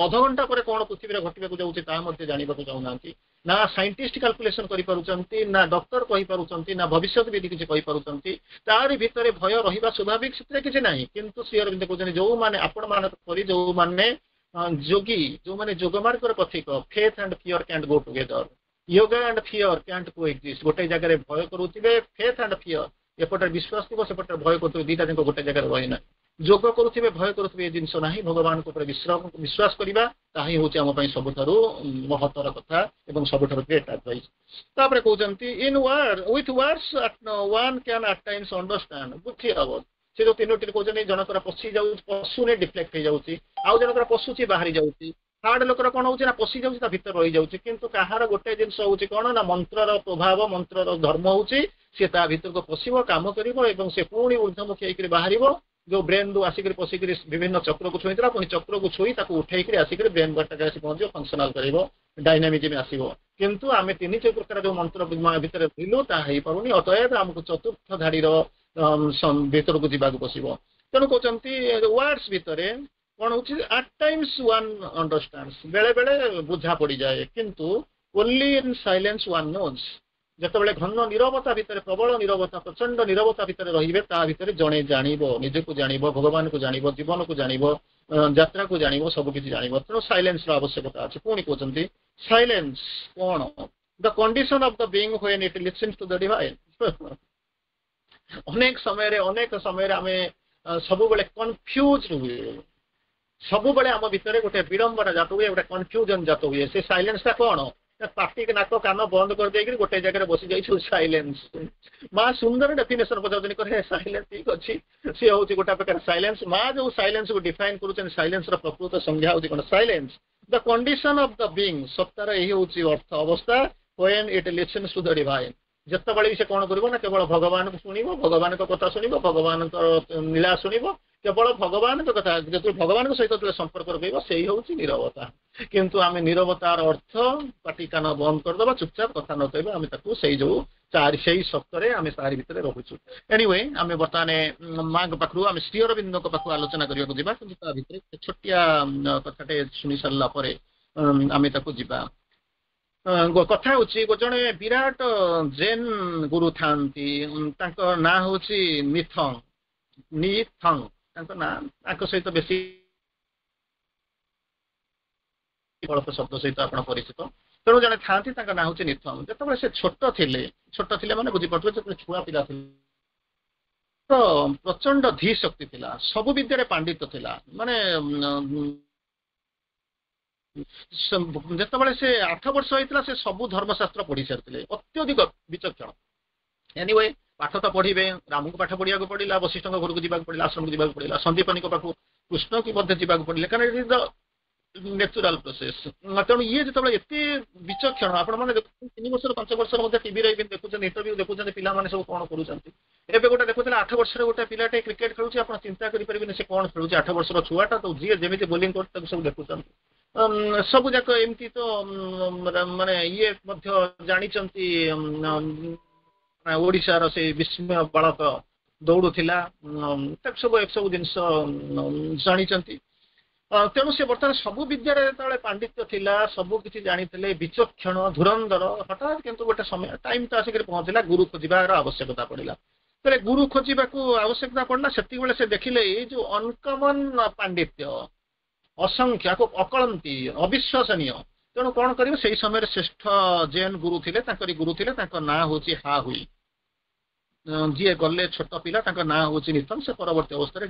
ଅଧଘଣ୍ଟା ପରେ କଣ ପୃଥିବୀରେ ଘଟିବାକୁ ଯାଉଛି, ତାହା ମଧ୍ୟ ଜାଣିବାକୁ ଚାହୁଁନାହାନ୍ତି। ନା ସାଇଣ୍ଟିଷ୍ଟ କାଲକୁଲେସନ କରିପାରୁଛନ୍ତି, ନା ଡକ୍ଟର କହିପାରୁଛନ୍ତି, ନା ଭବିଷ୍ୟତ ବିଧି କିଛି କହିପାରୁଛନ୍ତି। ତାରି ଭିତରେ ଭୟ ରହିବା ସ୍ୱାଭାବିକ, ସେଥିରେ କିଛି ନାହିଁ। କିନ୍ତୁ ଶ୍ରୀ ଅରବିନ୍ଦ କହୁଛନ୍ତି, ଯୋଉମାନେ ଆପଣମାନଙ୍କ ପରି ଯୋଉମାନେ ଯୋଗୀ, ଯୋଉମାନେ ଯୋଗମାର୍ଗର ପଥିକ, faith and fear cantt go together, yoga and fear cantt co exist. ଗୋଟେ ଜାଗାରେ ଭୟ କରୁଥିବେ, ଫେଥ୍ ଆଣ୍ଡ ଫିୟର, ଏପଟରେ ବିଶ୍ୱାସ ଥିବ, ସେପଟରେ ଭୟ କରୁଥିବେ, ଦିଟା ଯାକ ଗୋଟେ ଜାଗାରେ ରହେ। ଯୋଗ କରୁଥିବେ, ଭୟ କରୁଥିବେ, ଏ ଜିନିଷ ନାହିଁ। ଭଗବାନଙ୍କ ଉପରେ ବିଶ୍ୱାସ କରିବା, ତାହା ହିଁ ହେଉଛି ଆମ ପାଇଁ ସବୁଠାରୁ ମହତ୍ତର କଥା ଏବଂ ସବୁଠାରୁ ଗ୍ରେଟ୍ ଆଡଭାଇସ୍। ତାପରେ କହୁଛନ୍ତି, in word with words one can at times understand। ବୁଝି ହବ। ସେ ଯୋଉ ତିନୋଟି କହୁଛନ୍ତି, ଜଣଙ୍କର ପଶି ଯାଉଛି, ପଶୁନି, ଡିଫ୍ଲେକ୍ଟ ହେଇଯାଉଛି। ଆଉ ଜଣଙ୍କର ପଶୁଛି, ବାହାରି ଯାଉଛି। ଥାର୍ଡ ଲୋକର କଣ ହଉଛି ନା, ପଶି ଯାଉଛି, ତା ଭିତରେ ରହିଯାଉଛି। କିନ୍ତୁ କାହାର ଗୋଟେ ଜିନିଷ ହଉଛି କଣ ନା, ମନ୍ତ୍ରର ପ୍ରଭାବ, ମନ୍ତ୍ରର ଧର୍ମ ହଉଛି ସିଏ ତା ଭିତରକୁ ପଶିବ, କାମ କରିବ ଏବଂ ସେ ପୁଣି ଉର୍ଦ୍ଧ୍ୱମୁଖୀ ହେଇକରି ବାହାରିବ। ଯୋଉ ବ୍ରେନରୁ ଆସିକରି ପଶିକରି ବିଭିନ୍ନ ଚକ୍ରକୁ ଛୁଇଁଥିଲା, ପୁଣି ଚକ୍ରକୁ ଛୁଇଁ ତାକୁ ଉଠେଇକରି ଆସିକରି ବ୍ରେନ୍ ବାଟରେ ଆସି ପହଞ୍ଚିବ, ଫଙ୍କସନାଲ କରିବ, ଡାଇନାମିଜିମ୍ ଆସିବ। କିନ୍ତୁ ଆମେ ତିନି ପ୍ରକାର ଯୋଉ ମନ୍ତ୍ର ଭିତରେ ରହିଲୁ, ତାହା ହେଇପାରୁନି। ଅତଏବ ଆମକୁ ଚତୁର୍ଥ ଧାଡ଼ିର ଭିତରକୁ ଯିବାକୁ ପଶିବ। ତେଣୁ କହୁଛନ୍ତି, ୱାର୍ଡସ୍ ଭିତରେ କଣ ହଉଛି, ଆଟ୍ ଟାଇମ୍ସ ୱାନ୍ ଅଣ୍ଡରଷ୍ଟାଣ୍ଡ, ବେଳେ ବେଳେ ବୁଝା ପଡିଯାଏ। କିନ୍ତୁ only in silence one knows। ଯେତେବେଳେ ଘନ ନିରବତା ଭିତରେ, ପ୍ରବଳ ନିରବତା, ପ୍ରଚଣ୍ଡ ନିରବତା ଭିତରେ ରହିବେ, ତା ଭିତରେ ଜଣେ ଜାଣିବ, ନିଜକୁ ଜାଣିବ, ଭଗବାନକୁ ଜାଣିବ, ଜୀବନକୁ ଜାଣିବ, ଯାତ୍ରାକୁ ଜାଣିବ, ସବୁ କିଛି ଜାଣିବ। ତେଣୁ ସାଇଲେନ୍ସର ଆବଶ୍ୟକତା ଅଛି। ପୁଣି କହୁଛନ୍ତି, ସାଇଲେନ୍ସ କଣ? The condition of the being when it listens to the divine। ଅନେକ ସମୟରେ ଆମେ ସବୁବେଳେ କନଫ୍ୟୁଜ ହୁଏ। ସବୁବେଳେ ଆମ ଭିତରେ ଗୋଟେ ବିଡମ୍ବନା ଜାତ ହୁଏ, ଗୋଟେ କନଫ୍ୟୁଜନ ଜାତ ହୁଏ। ସେ ସାଇଲେନ୍ସଟା କଣ? ପାଟି, ନାକ, କାନ ବନ୍ଦ କରିଦେଇକିରି ଗୋଟେ ଜାଗାରେ ବସି ଯାଇଛୁ, ସାଇଲେନ୍ସ। ମା ସୁନ୍ଦର ଡେଫିନେସନ ପଚାରୁଛନ୍ତି, କରେ ସାଇଲେନ୍ସ। ଠିକ ଅଛି, ସିଏ ହଉଛି ଗୋଟେ ପ୍ରକାର ସାଇଲେନ୍ସ। ମା ଯୋଉ ସାଇଲେନ୍ସକୁ ଡିଫାଇନ କରୁଛନ୍ତି, ସାଇଲେନ୍ସର ପ୍ରକୃତ ସଂଜ୍ଞା ହଉଛି କଣ? Silence, the condition of the being, ସତ୍ତାର ଏହି ହଉଛି ଅର୍ଥ, ଅବସ୍ଥା, when it listens to the divine। ଯେତେବେଳେ ବି ସେ କଣ କରିବ ନା, କେବଳ ଭଗବାନଙ୍କୁ ଶୁଣିବ, ଭଗବାନଙ୍କ କଥା ଶୁଣିବ, ଭଗବାନଙ୍କ ଲୀଳା ଶୁଣିବ, କେବଳ ଭଗବାନଙ୍କ କଥା, ଯେତେବେଳେ ଭଗବାନଙ୍କ ସହିତ ଯେତେବେଳେ ସମ୍ପର୍କ ରଖିବ, ସେଇ ହଉଛି ନିରବତା। କିନ୍ତୁ ଆମେ ନିରବତାର ଅର୍ଥ ପାଟି କାନ ବନ୍ଦ କରିଦେବା, ଚୁପଚାପ କଥା ନ କହିବା, ଆମେ ତାକୁ ସେଇ ଯୋଉ ଚାରି ସେଇ ସପ୍ତରେ ଆମେ ତାରି ଭିତରେ ରହୁଛୁ। ଏନିୱେ, ଆମେ ବର୍ତ୍ତମାନ ମାଙ୍କ ପାଖରୁ ଆମେ ଶ୍ରୀ ଅରବିନ୍ଦଙ୍କ ପାଖକୁ ଆଲୋଚନା କରିବାକୁ ଯିବା। କିନ୍ତୁ ତା ଭିତରେ ଛୋଟିଆ କଥାଟେ ଶୁଣି ସାରିଲା ପରେ ଆମେ ତାକୁ ଯିବା। କଥା ହଉଛି, ଜଣେ ବିରାଟ ଜେନ୍ ଗୁରୁ ଥାନ୍ତି, ତାଙ୍କ ନାଁ ହଉଛି ନିଥଙ୍ଗ, ନିଥଙ୍ଗ ତାଙ୍କ ନାଁ। ତାଙ୍କ ସହିତ ବେଶୀ ଅଳ୍ପ ଶବ୍ଦ ସହିତ ଆପଣ ପରିଚିତ। ତେଣୁ ଜଣେ ଥାନ୍ତି, ତାଙ୍କ ନାଁ ହଉଛି ନିଥଙ୍ଗ। ଯେତେବେଳେ ସେ ଛୋଟ ଥିଲେ, ଛୋଟ ଥିଲେ ମାନେ ବୁଝିପାରୁଥିବେ, ଯେତେବେଳେ ଛୁଆ ପିଲା ଥିଲେ, ତ ପ୍ରଚଣ୍ଡ ଧୀ ଶକ୍ତି ଥିଲା, ସବୁ ବିଦ୍ୟାରେ ପାଣ୍ଡିତ୍ୟ ଥିଲା। ମାନେ ଯେତେବେଳେ ସେ 8 ବର୍ଷ ହେଇଥିଲା, ସେ ସବୁ ଧର୍ମଶାସ୍ତ୍ର ପଢି ସାରିଥିଲେ, ଅତ୍ୟଧିକ ବିଚକ୍ଷଣ। ଏନିୱେ, ପାଠ ତ ପଢିବେ। ରାମଙ୍କୁ ପାଠ ପଢିବାକୁ ପଡିଲା, ବଶିଷ୍ଠଙ୍କ ଘରକୁ ଯିବାକୁ ପଡିଲା, ଆଶ୍ରମକୁ ଯିବାକୁ ପଡିଲା, ସନ୍ଦୀପନୀଙ୍କ ପାଖକୁ କୃଷ୍ଣକୁ ମଧ୍ୟ ଯିବାକୁ ପଡିଲା, କାରଣ it is the natural process। ତେଣୁ ଇଏ ଯେତେବେଳେ ଏତେ ବିଚକ୍ଷଣ, ଆପଣମାନେ ଦେଖୁଛନ୍ତି, 3 ବର୍ଷର, 5 ବର୍ଷର ମଧ୍ୟ ଟିଭିରେ ବି ଦେଖୁଛନ୍ତି, ଇଣ୍ଟରଭ୍ୟୁ ଦେଖୁଛନ୍ତି, ପିଲାମାନେ ସବୁ କଣ କରୁଛନ୍ତି। ଏବେ ଗୋଟେ ଦେଖୁଥିଲେ, 8 ବର୍ଷର ଗୋଟେ ପିଲାଟେ କ୍ରିକେଟ ଖେଳୁଛି। ଆପଣ ଚିନ୍ତା କରିପାରିବେନି ସେ କଣ ଖେଳୁଛି। 8 ବର୍ଷର ଛୁଆଟା ତ, ଯିଏ ଯେମିତି ବୋଲିଂ କରୁଛି, ତାକୁ ସବୁ ଦେଖୁଛନ୍ତି। ସବୁ ଯାକ ଏମିତି ତ ମାନେ ଇଏ ମଧ୍ୟ ଜାଣିଛନ୍ତି, ଓଡ଼ିଶାର ସେଇ ବିସ୍ମୟ ବାଳକ ଦୌଡୁଥିଲା, ତାକୁ ସବୁ ଏସବୁ ଜିନିଷ ଜାଣିଛନ୍ତି। ତେଣୁ ସେ ବର୍ତ୍ତମାନ ସବୁ ବିଦ୍ୟାରେ ଯେତେବେଳେ ପାଣ୍ଡିତ୍ୟ ଥିଲା, ସବୁ କିଛି ଜାଣିଥିଲେ, ବିଚକ୍ଷଣ, ଧୁରନ୍ଧର, ହଠାତ୍ କିନ୍ତୁ ଗୋଟେ ସମୟ ଟାଇମ୍ ତ ଆସିକରି ପହଞ୍ଚିଲା, ଗୁରୁ ଖୋଜିବାର ଆବଶ୍ୟକତା ପଡ଼ିଲା। ତେବେ ଗୁରୁ ଖୋଜିବାକୁ ଆବଶ୍ୟକତା ପଡ଼ିଲା, ସେତିକିବେଳେ ସେ ଦେଖିଲେ ଏଇ ଯୋଉ ଅନକମନ ପାଣ୍ଡିତ୍ୟ, ଅସଂଖ୍ୟ, ଅକଳନ୍ତି, ଅବିଶ୍ୱସନୀୟ। ତେଣୁ କଣ କରିବେ? ସେଇ ସମୟରେ ଶ୍ରେଷ୍ଠ ଜେନ୍ ଗୁରୁ ଥିଲେ, ତାଙ୍କରି ଗୁରୁ ଥିଲେ, ତାଙ୍କ ନାଁ ହଉଛି ହା ହୁଇ। ଯିଏ ଗଲେ ଛୋଟ ପିଲା, ତାଙ୍କ ନାଁ ହଉଛି ନିତନ। ସେ ପରବର୍ତ୍ତୀ ଅବସ୍ଥାରେ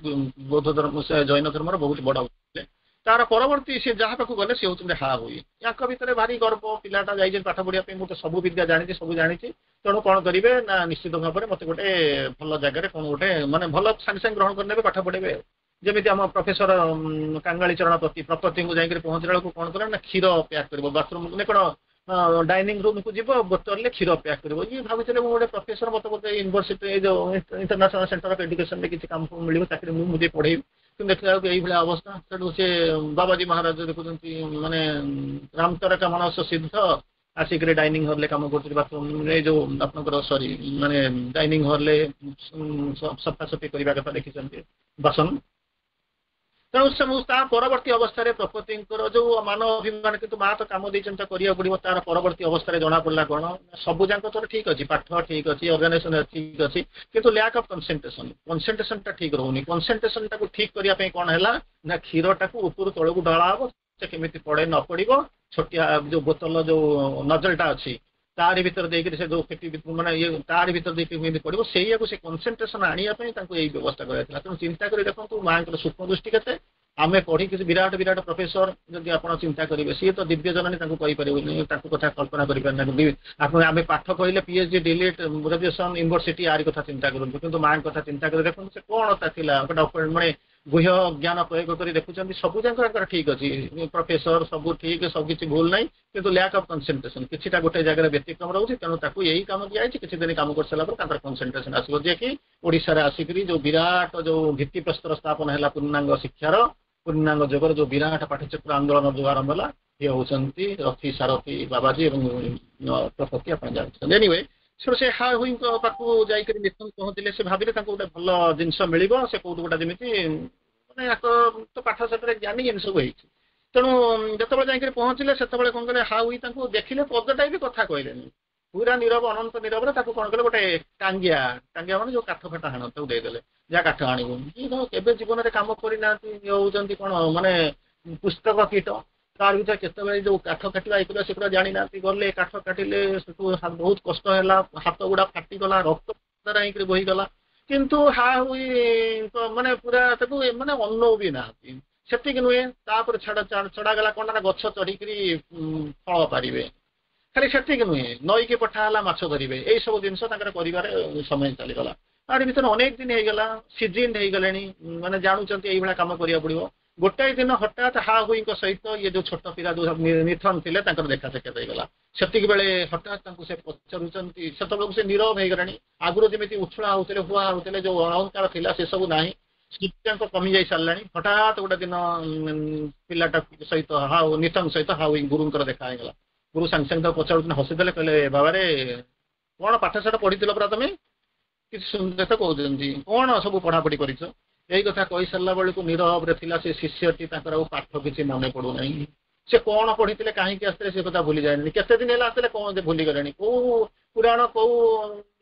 ବୌଦ୍ଧ ଧର୍ମ, ସେ ଜୈନ ଧର୍ମର ବହୁତ ବଡ ଥିଲେ। ତାର ପରବର୍ତ୍ତୀ ସେ ଯାହା ପାଖକୁ ଗଲେ, ସେ ହଉଛନ୍ତି ହା ହୁଇ। ୟାଙ୍କ ଭିତରେ ଭାରି ଗର୍ବ, ପିଲାଟା ଯାଇଛି ପାଠ ପଢିବା ପାଇଁ, ମୁଁ ତ ସବୁ ବିଦ୍ୟା ଜାଣିଛି, ସବୁ ଜାଣିଛି। ତେଣୁ କଣ କରିବେ ନା ନିଶ୍ଚିତ ଭାବରେ ମତେ ଗୋଟେ ଭଲ ଜାଗାରେ କଣ ଗୋଟେ ମାନେ ଭଲ ସାଙ୍ଗେ ସାଙ୍ଗେ ଗ୍ରହଣ କରିନେବେ, ପାଠ ପଢେଇବେ। ଯେମିତି ଆମ ପ୍ରଫେସର କାଙ୍ଗାଳି ଚରଣ ପତି, ପ୍ରପତିଙ୍କୁ ଯାଇକରି ପହଞ୍ଚିଲା ବେଳକୁ କଣ କଲେ ନା କ୍ଷୀର ପ୍ୟାକ୍ କରିବ, ବାଥରୁମ କଣ ଡାଇନିଂ ରୁମକୁ ଯିବ, ବୋତଲରେ କ୍ଷୀର ପ୍ୟାକ୍ କରିବ। ଇଏ ଭାବୁଥିଲେ, ମୁଁ ଗୋଟେ ପ୍ରଫେସର, ମତେ ବୋଧେ ୟୁନିଭର୍ସିଟି, ଏଇ ଯୋଉ ଇଣ୍ଟରନ୍ୟାସନାଲ ସେଣ୍ଟର ଅଫ ଏଡୁକେସନରେ କିଛି କାମ ମିଳିବ, ଚାକିରି, ମୁଁ ଯାଇ ପଢେଇବି। କିନ୍ତୁ ଦେଖିଲା ବେଳକୁ ଏଇଭଳିଆ ଅବସ୍ଥା। ସେଠୁ ସେ ବାବାଜୀ ମହାରାଜ ଦେଖୁଛନ୍ତି, ମାନେ ରାମତରକା ମାନସ ସିଦ୍ଧ ଆସିକରି ଡାଇନିଂ ହଲରେ କାମ କରୁଛନ୍ତି, ବାଥରୁମରେ ଯୋଉ ଆପଣଙ୍କର, ସରି, ମାନେ ଡାଇନିଂ ହଲରେ ସଫାସଫି କରିବା କଥା ଦେଖିଛନ୍ତି, ବାସନ। ତେଣୁ ସେ ତା ପରବର୍ତ୍ତୀ ଅବସ୍ଥାରେ ପ୍ରକୃତିଙ୍କର ଯୋଉ ମାନ ଅଭିମାନ, କିନ୍ତୁ ମା ତ କାମ ଦେଇଛନ୍ତି, ତ କରିବାକୁ ପଡିବ। ତାର ପରବର୍ତ୍ତୀ ଅବସ୍ଥାରେ ଜଣା ପଡିଲା କଣ? ସବୁ ଯାକ ତୋର ଠିକ ଅଛି, ପାଠ ଠିକ ଅଛି, ଅର୍ଗାନାଇଜେସନ ଠିକ ଅଛି, କିନ୍ତୁ ଲ୍ୟାକ୍ ଅଫ୍ କନସେନ୍ଟ୍ରେସନ, କନସେନ୍ଟ୍ରେସନ ଟା ଠିକ ରହୁନି। କନସେନ୍ଟ୍ରେସନ ଟାକୁ ଠିକ କରିବା ପାଇଁ କଣ ହେଲା ନା କ୍ଷୀରଟାକୁ ଉପରୁ ତଳକୁ ଢଳା ହବ, ସେ କେମିତି ପଡେ ନ ପଡିବ, ଛୋଟିଆ ଯୋଉ ବୋତଲ ଯୋଉ ନଜଲଟା ଅଛି, ତାରି ଭିତରେ ଦେଇକରି ସେ ଯୋଉ ମାନେ ଇଏ ତାରି ଭିତରେ ଦେଇକି କେମିତି ପଡିବ, ସେଇଆକୁ ସେ କନସେନ୍ଟ୍ରେସନ ଆଣିବା ପାଇଁ ତାଙ୍କୁ ଏଇ ବ୍ୟବସ୍ଥା କରାଯାଇଥିଲା। ତେଣୁ ଚିନ୍ତା କରି ଦେଖନ୍ତୁ ମାଙ୍କର ସୂକ୍ଷ୍ମ ଦୃଷ୍ଟି କେତେ। ଆମେ ପଢିକି ବିରାଟ ବିରାଟ ପ୍ରଫେସର, ଯଦି ଆପଣ ଚିନ୍ତା କରିବେ, ସିଏ ତ ଦିବ୍ୟ ଜନନୀ, ତାଙ୍କୁ କହିପାରିବୁନି, ତାଙ୍କୁ କଥା କଳ୍ପନା କରିପାରିନାହାନ୍ତି ଆପଣ। ଆମେ ପାଠ କହିଲେ ପିଏଚଡି, ଡିଲିଟ୍, ଗ୍ରାଜୁଏସନ, ୟୁନିଭର୍ସିଟି, ଆରି କଥା ଚିନ୍ତା କରନ୍ତୁ। କିନ୍ତୁ ମାଙ୍କ କଥା ଚିନ୍ତା କରି ଦେଖନ୍ତୁ, ସେ କଣ ତା ଥିଲା ଗୋଟେ ମାନେ ଗୁହ୍ୟ ଜ୍ଞାନ ପ୍ରୟୋଗ କରି ଦେଖୁଛନ୍ତି, ସବୁ ଯାକ ତାଙ୍କର ଠିକ ଅଛି, ପ୍ରଫେସର, ସବୁ ଠିକ, ସବୁ କିଛି ଭୁଲ ନାହିଁ, କିନ୍ତୁ ଲ୍ୟାକ୍ ଅଫ୍ କନସେନ୍ଟ୍ରେସନ, କିଛିଟା ଗୋଟେ ଜାଗାରେ ବ୍ୟତିକ୍ରମ ରହୁଛି। ତେଣୁ ତାକୁ ଏଇ କାମ ଦିଆଯାଇଛି, କିଛି ଦିନ କାମ କରିସାରିଲା ପରେ ତାଙ୍କର କନସେନ୍ଟ୍ରେସନ ଆସିବ। ଯିଏକି ଓଡ଼ିଶାରେ ଆସିକରି ଯୋଉ ବିରାଟ ଯୋଉ ଭିତ୍ତିପ୍ରସ୍ତର ସ୍ଥାପନ ହେଲା ପୂର୍ଣ୍ଣାଙ୍ଗ ଶିକ୍ଷାର, ପୂର୍ଣ୍ଣାଙ୍ଗ ଯୋଗର ଯୋଉ ବିରାଟ ପାଠଚକ୍ର ଆନ୍ଦୋଳନ ଯୋଉ ଆରମ୍ଭ ହେଲା, ଇଏ ହଉଛନ୍ତି ରଥି ସାରଥି ବାବାଜୀ ଏବଂ ପ୍ରପତି, ଆପଣ ଜାଣିଛନ୍ତି। ଏନିୱେ, ସେଠୁ ସେ ହା ହୁଇଙ୍କ ପାଖକୁ ଯାଇକରି ନିତନ ପହଞ୍ଚିଲେ। ସେ ଭାବିଲେ ତାଙ୍କୁ ଗୋଟେ ଭଲ ଜିନିଷ ମିଳିବ, ସେ କୋଉଠୁ ଗୋଟେ ଯେମିତି ମାନେ ୟାଙ୍କ ତ ପାଠ ସାଠରେ ଜ୍ଞାନୀ, ଏମିତି ସବୁ ହେଇଛି। ତେଣୁ ଯେତେବେଳେ ଯାଇକରି ପହଞ୍ଚିଲେ, ସେତେବେଳେ କଣ କଲେ, ହା ହୁଇ ତାଙ୍କୁ ଦେଖିଲେ, ପଦଟାଇ ବି କଥା କହିଲେନି, ପୁରା ନିରବ, ଅନନ୍ତ ନିରବରେ ତାକୁ କଣ କଲେ, ଗୋଟେ ଟାଙ୍ଗିଆ, ଟାଙ୍ଗିଆ ମାନେ ଯୋଉ କାଠ ଫାଟ ହାଣ, ତାକୁ ଦେଇଦେଲେ, ଯାହା କାଠ ଆଣିବୁ। ଇଏ କେବେ ଜୀବନରେ କାମ କରିନାହାନ୍ତି, ଇଏ ହଉଛନ୍ତି କଣ ମାନେ ପୁସ୍ତକ କୀଟ। ତାର ଭିତରେ କେତେବେଳେ ଯୋଉ କାଠ କାଟିବା, ଇଏ କରିବା, ସେଗୁଡ଼ା ଜାଣିନାହାନ୍ତି। ଗଲେ, କାଠ କାଟିଲେ, ସେଠୁ ବହୁତ କଷ୍ଟ ହେଲା, ହାତ ଗୁଡା ଫାଟିଗଲା, ରକ୍ତ ହେଇକରି ବୋହିଗଲା, କିନ୍ତୁ ହା ହୁଇ ମାନେ ପୁରା ତାକୁ ମାନେ ଅନଉ ବି ନାହାନ୍ତି। ସେତିକି ନୁହେଁ, ତାପରେ ଛଡା ଛଡାଗଲା କଣ ନା ଗଛ ଚଢିକିରି ଫଳ ପାରିବେ। ଖାଲି ସେତିକି ନୁହେଁ, ନଈକି ପଠା ହେଲା, ମାଛ ଧରିବେ। ଏଇ ସବୁ ଜିନିଷ ତାଙ୍କର କରିବାରେ ସମୟ ଚାଲିଗଲା। ତାରି ଭିତରେ ଅନେକ ଦିନ ହେଇଗଲା, ସିଜିନ ହେଇଗଲେଣି, ମାନେ ଜାଣୁଛନ୍ତି ଏଇଭଳିଆ କାମ କରିବାକୁ ପଡିବ। ଗୋଟାଏ ଦିନ ହଠାତ୍ ହା ହୁଇଙ୍କ ସହିତ ଇଏ ଯୋଉ ଛୋଟ ପିଲା ଯୋଉ ନିଥନ ଥିଲେ, ତାଙ୍କର ଦେଖା ସାକ୍ଷାତ ହେଇଗଲା। ସେତିକି ବେଳେ ହଠାତ୍ ତାଙ୍କୁ ସେ ପଚାରୁଛନ୍ତି, ସେତେବେଳକୁ ସେ ନିରବ ହେଇଗଲାଣି। ଆଗରୁ ଯେମିତି ଉଛୁଳା ହଉଥିଲେ, ହୁଆ ହଉଥିଲେ, ଯୋଉ ଅହଙ୍କାର ଥିଲା, ସେ ସବୁ ନାହିଁ, ଯାକ କମି ଯାଇ ସାରିଲାଣି। ହଠାତ୍ ଗୋଟେ ଦିନ ପିଲାଟା ସହିତ, ହାଉ ନିଥନ ସହିତ ହାଉ ଗୁରୁଙ୍କର ଦେଖା ହେଇଗଲା। ଗୁରୁ ସାଙ୍ଗେ ସାଙ୍ଗେ ତାକୁ ପଚାରୁଛନ୍ତି, ହସିଦେଲେ, କହିଲେ, ବାବାରେ, କଣ ପାଠ ସାଠ ପଢିଥିଲ ପରା ତମେ? କିଛି ସୁନ୍ଦର କହୁଛନ୍ତି, କଣ ସବୁ ପଢାପଢି କରିଛ? ଏଇ କଥା କହିସାରିଲା ବେଳକୁ ନିରବରେ ଥିଲା ସେ ଶିଷ୍ୟଟି, ତାଙ୍କର ଆଉ ପାଠ କିଛି ମନେ ପଡୁନାହିଁ। ସେ କଣ ପଢିଥିଲେ, କାହିଁକି ଆସିଥିଲେ, ସେ କଥା ଭୁଲି ଯାଇନି। କେତେ ଦିନ ହେଲା ଆସିଥିଲେ, କଣ ଭୁଲିଗଲେଣି। କୋଉ ପୁରାଣ, କୋଉ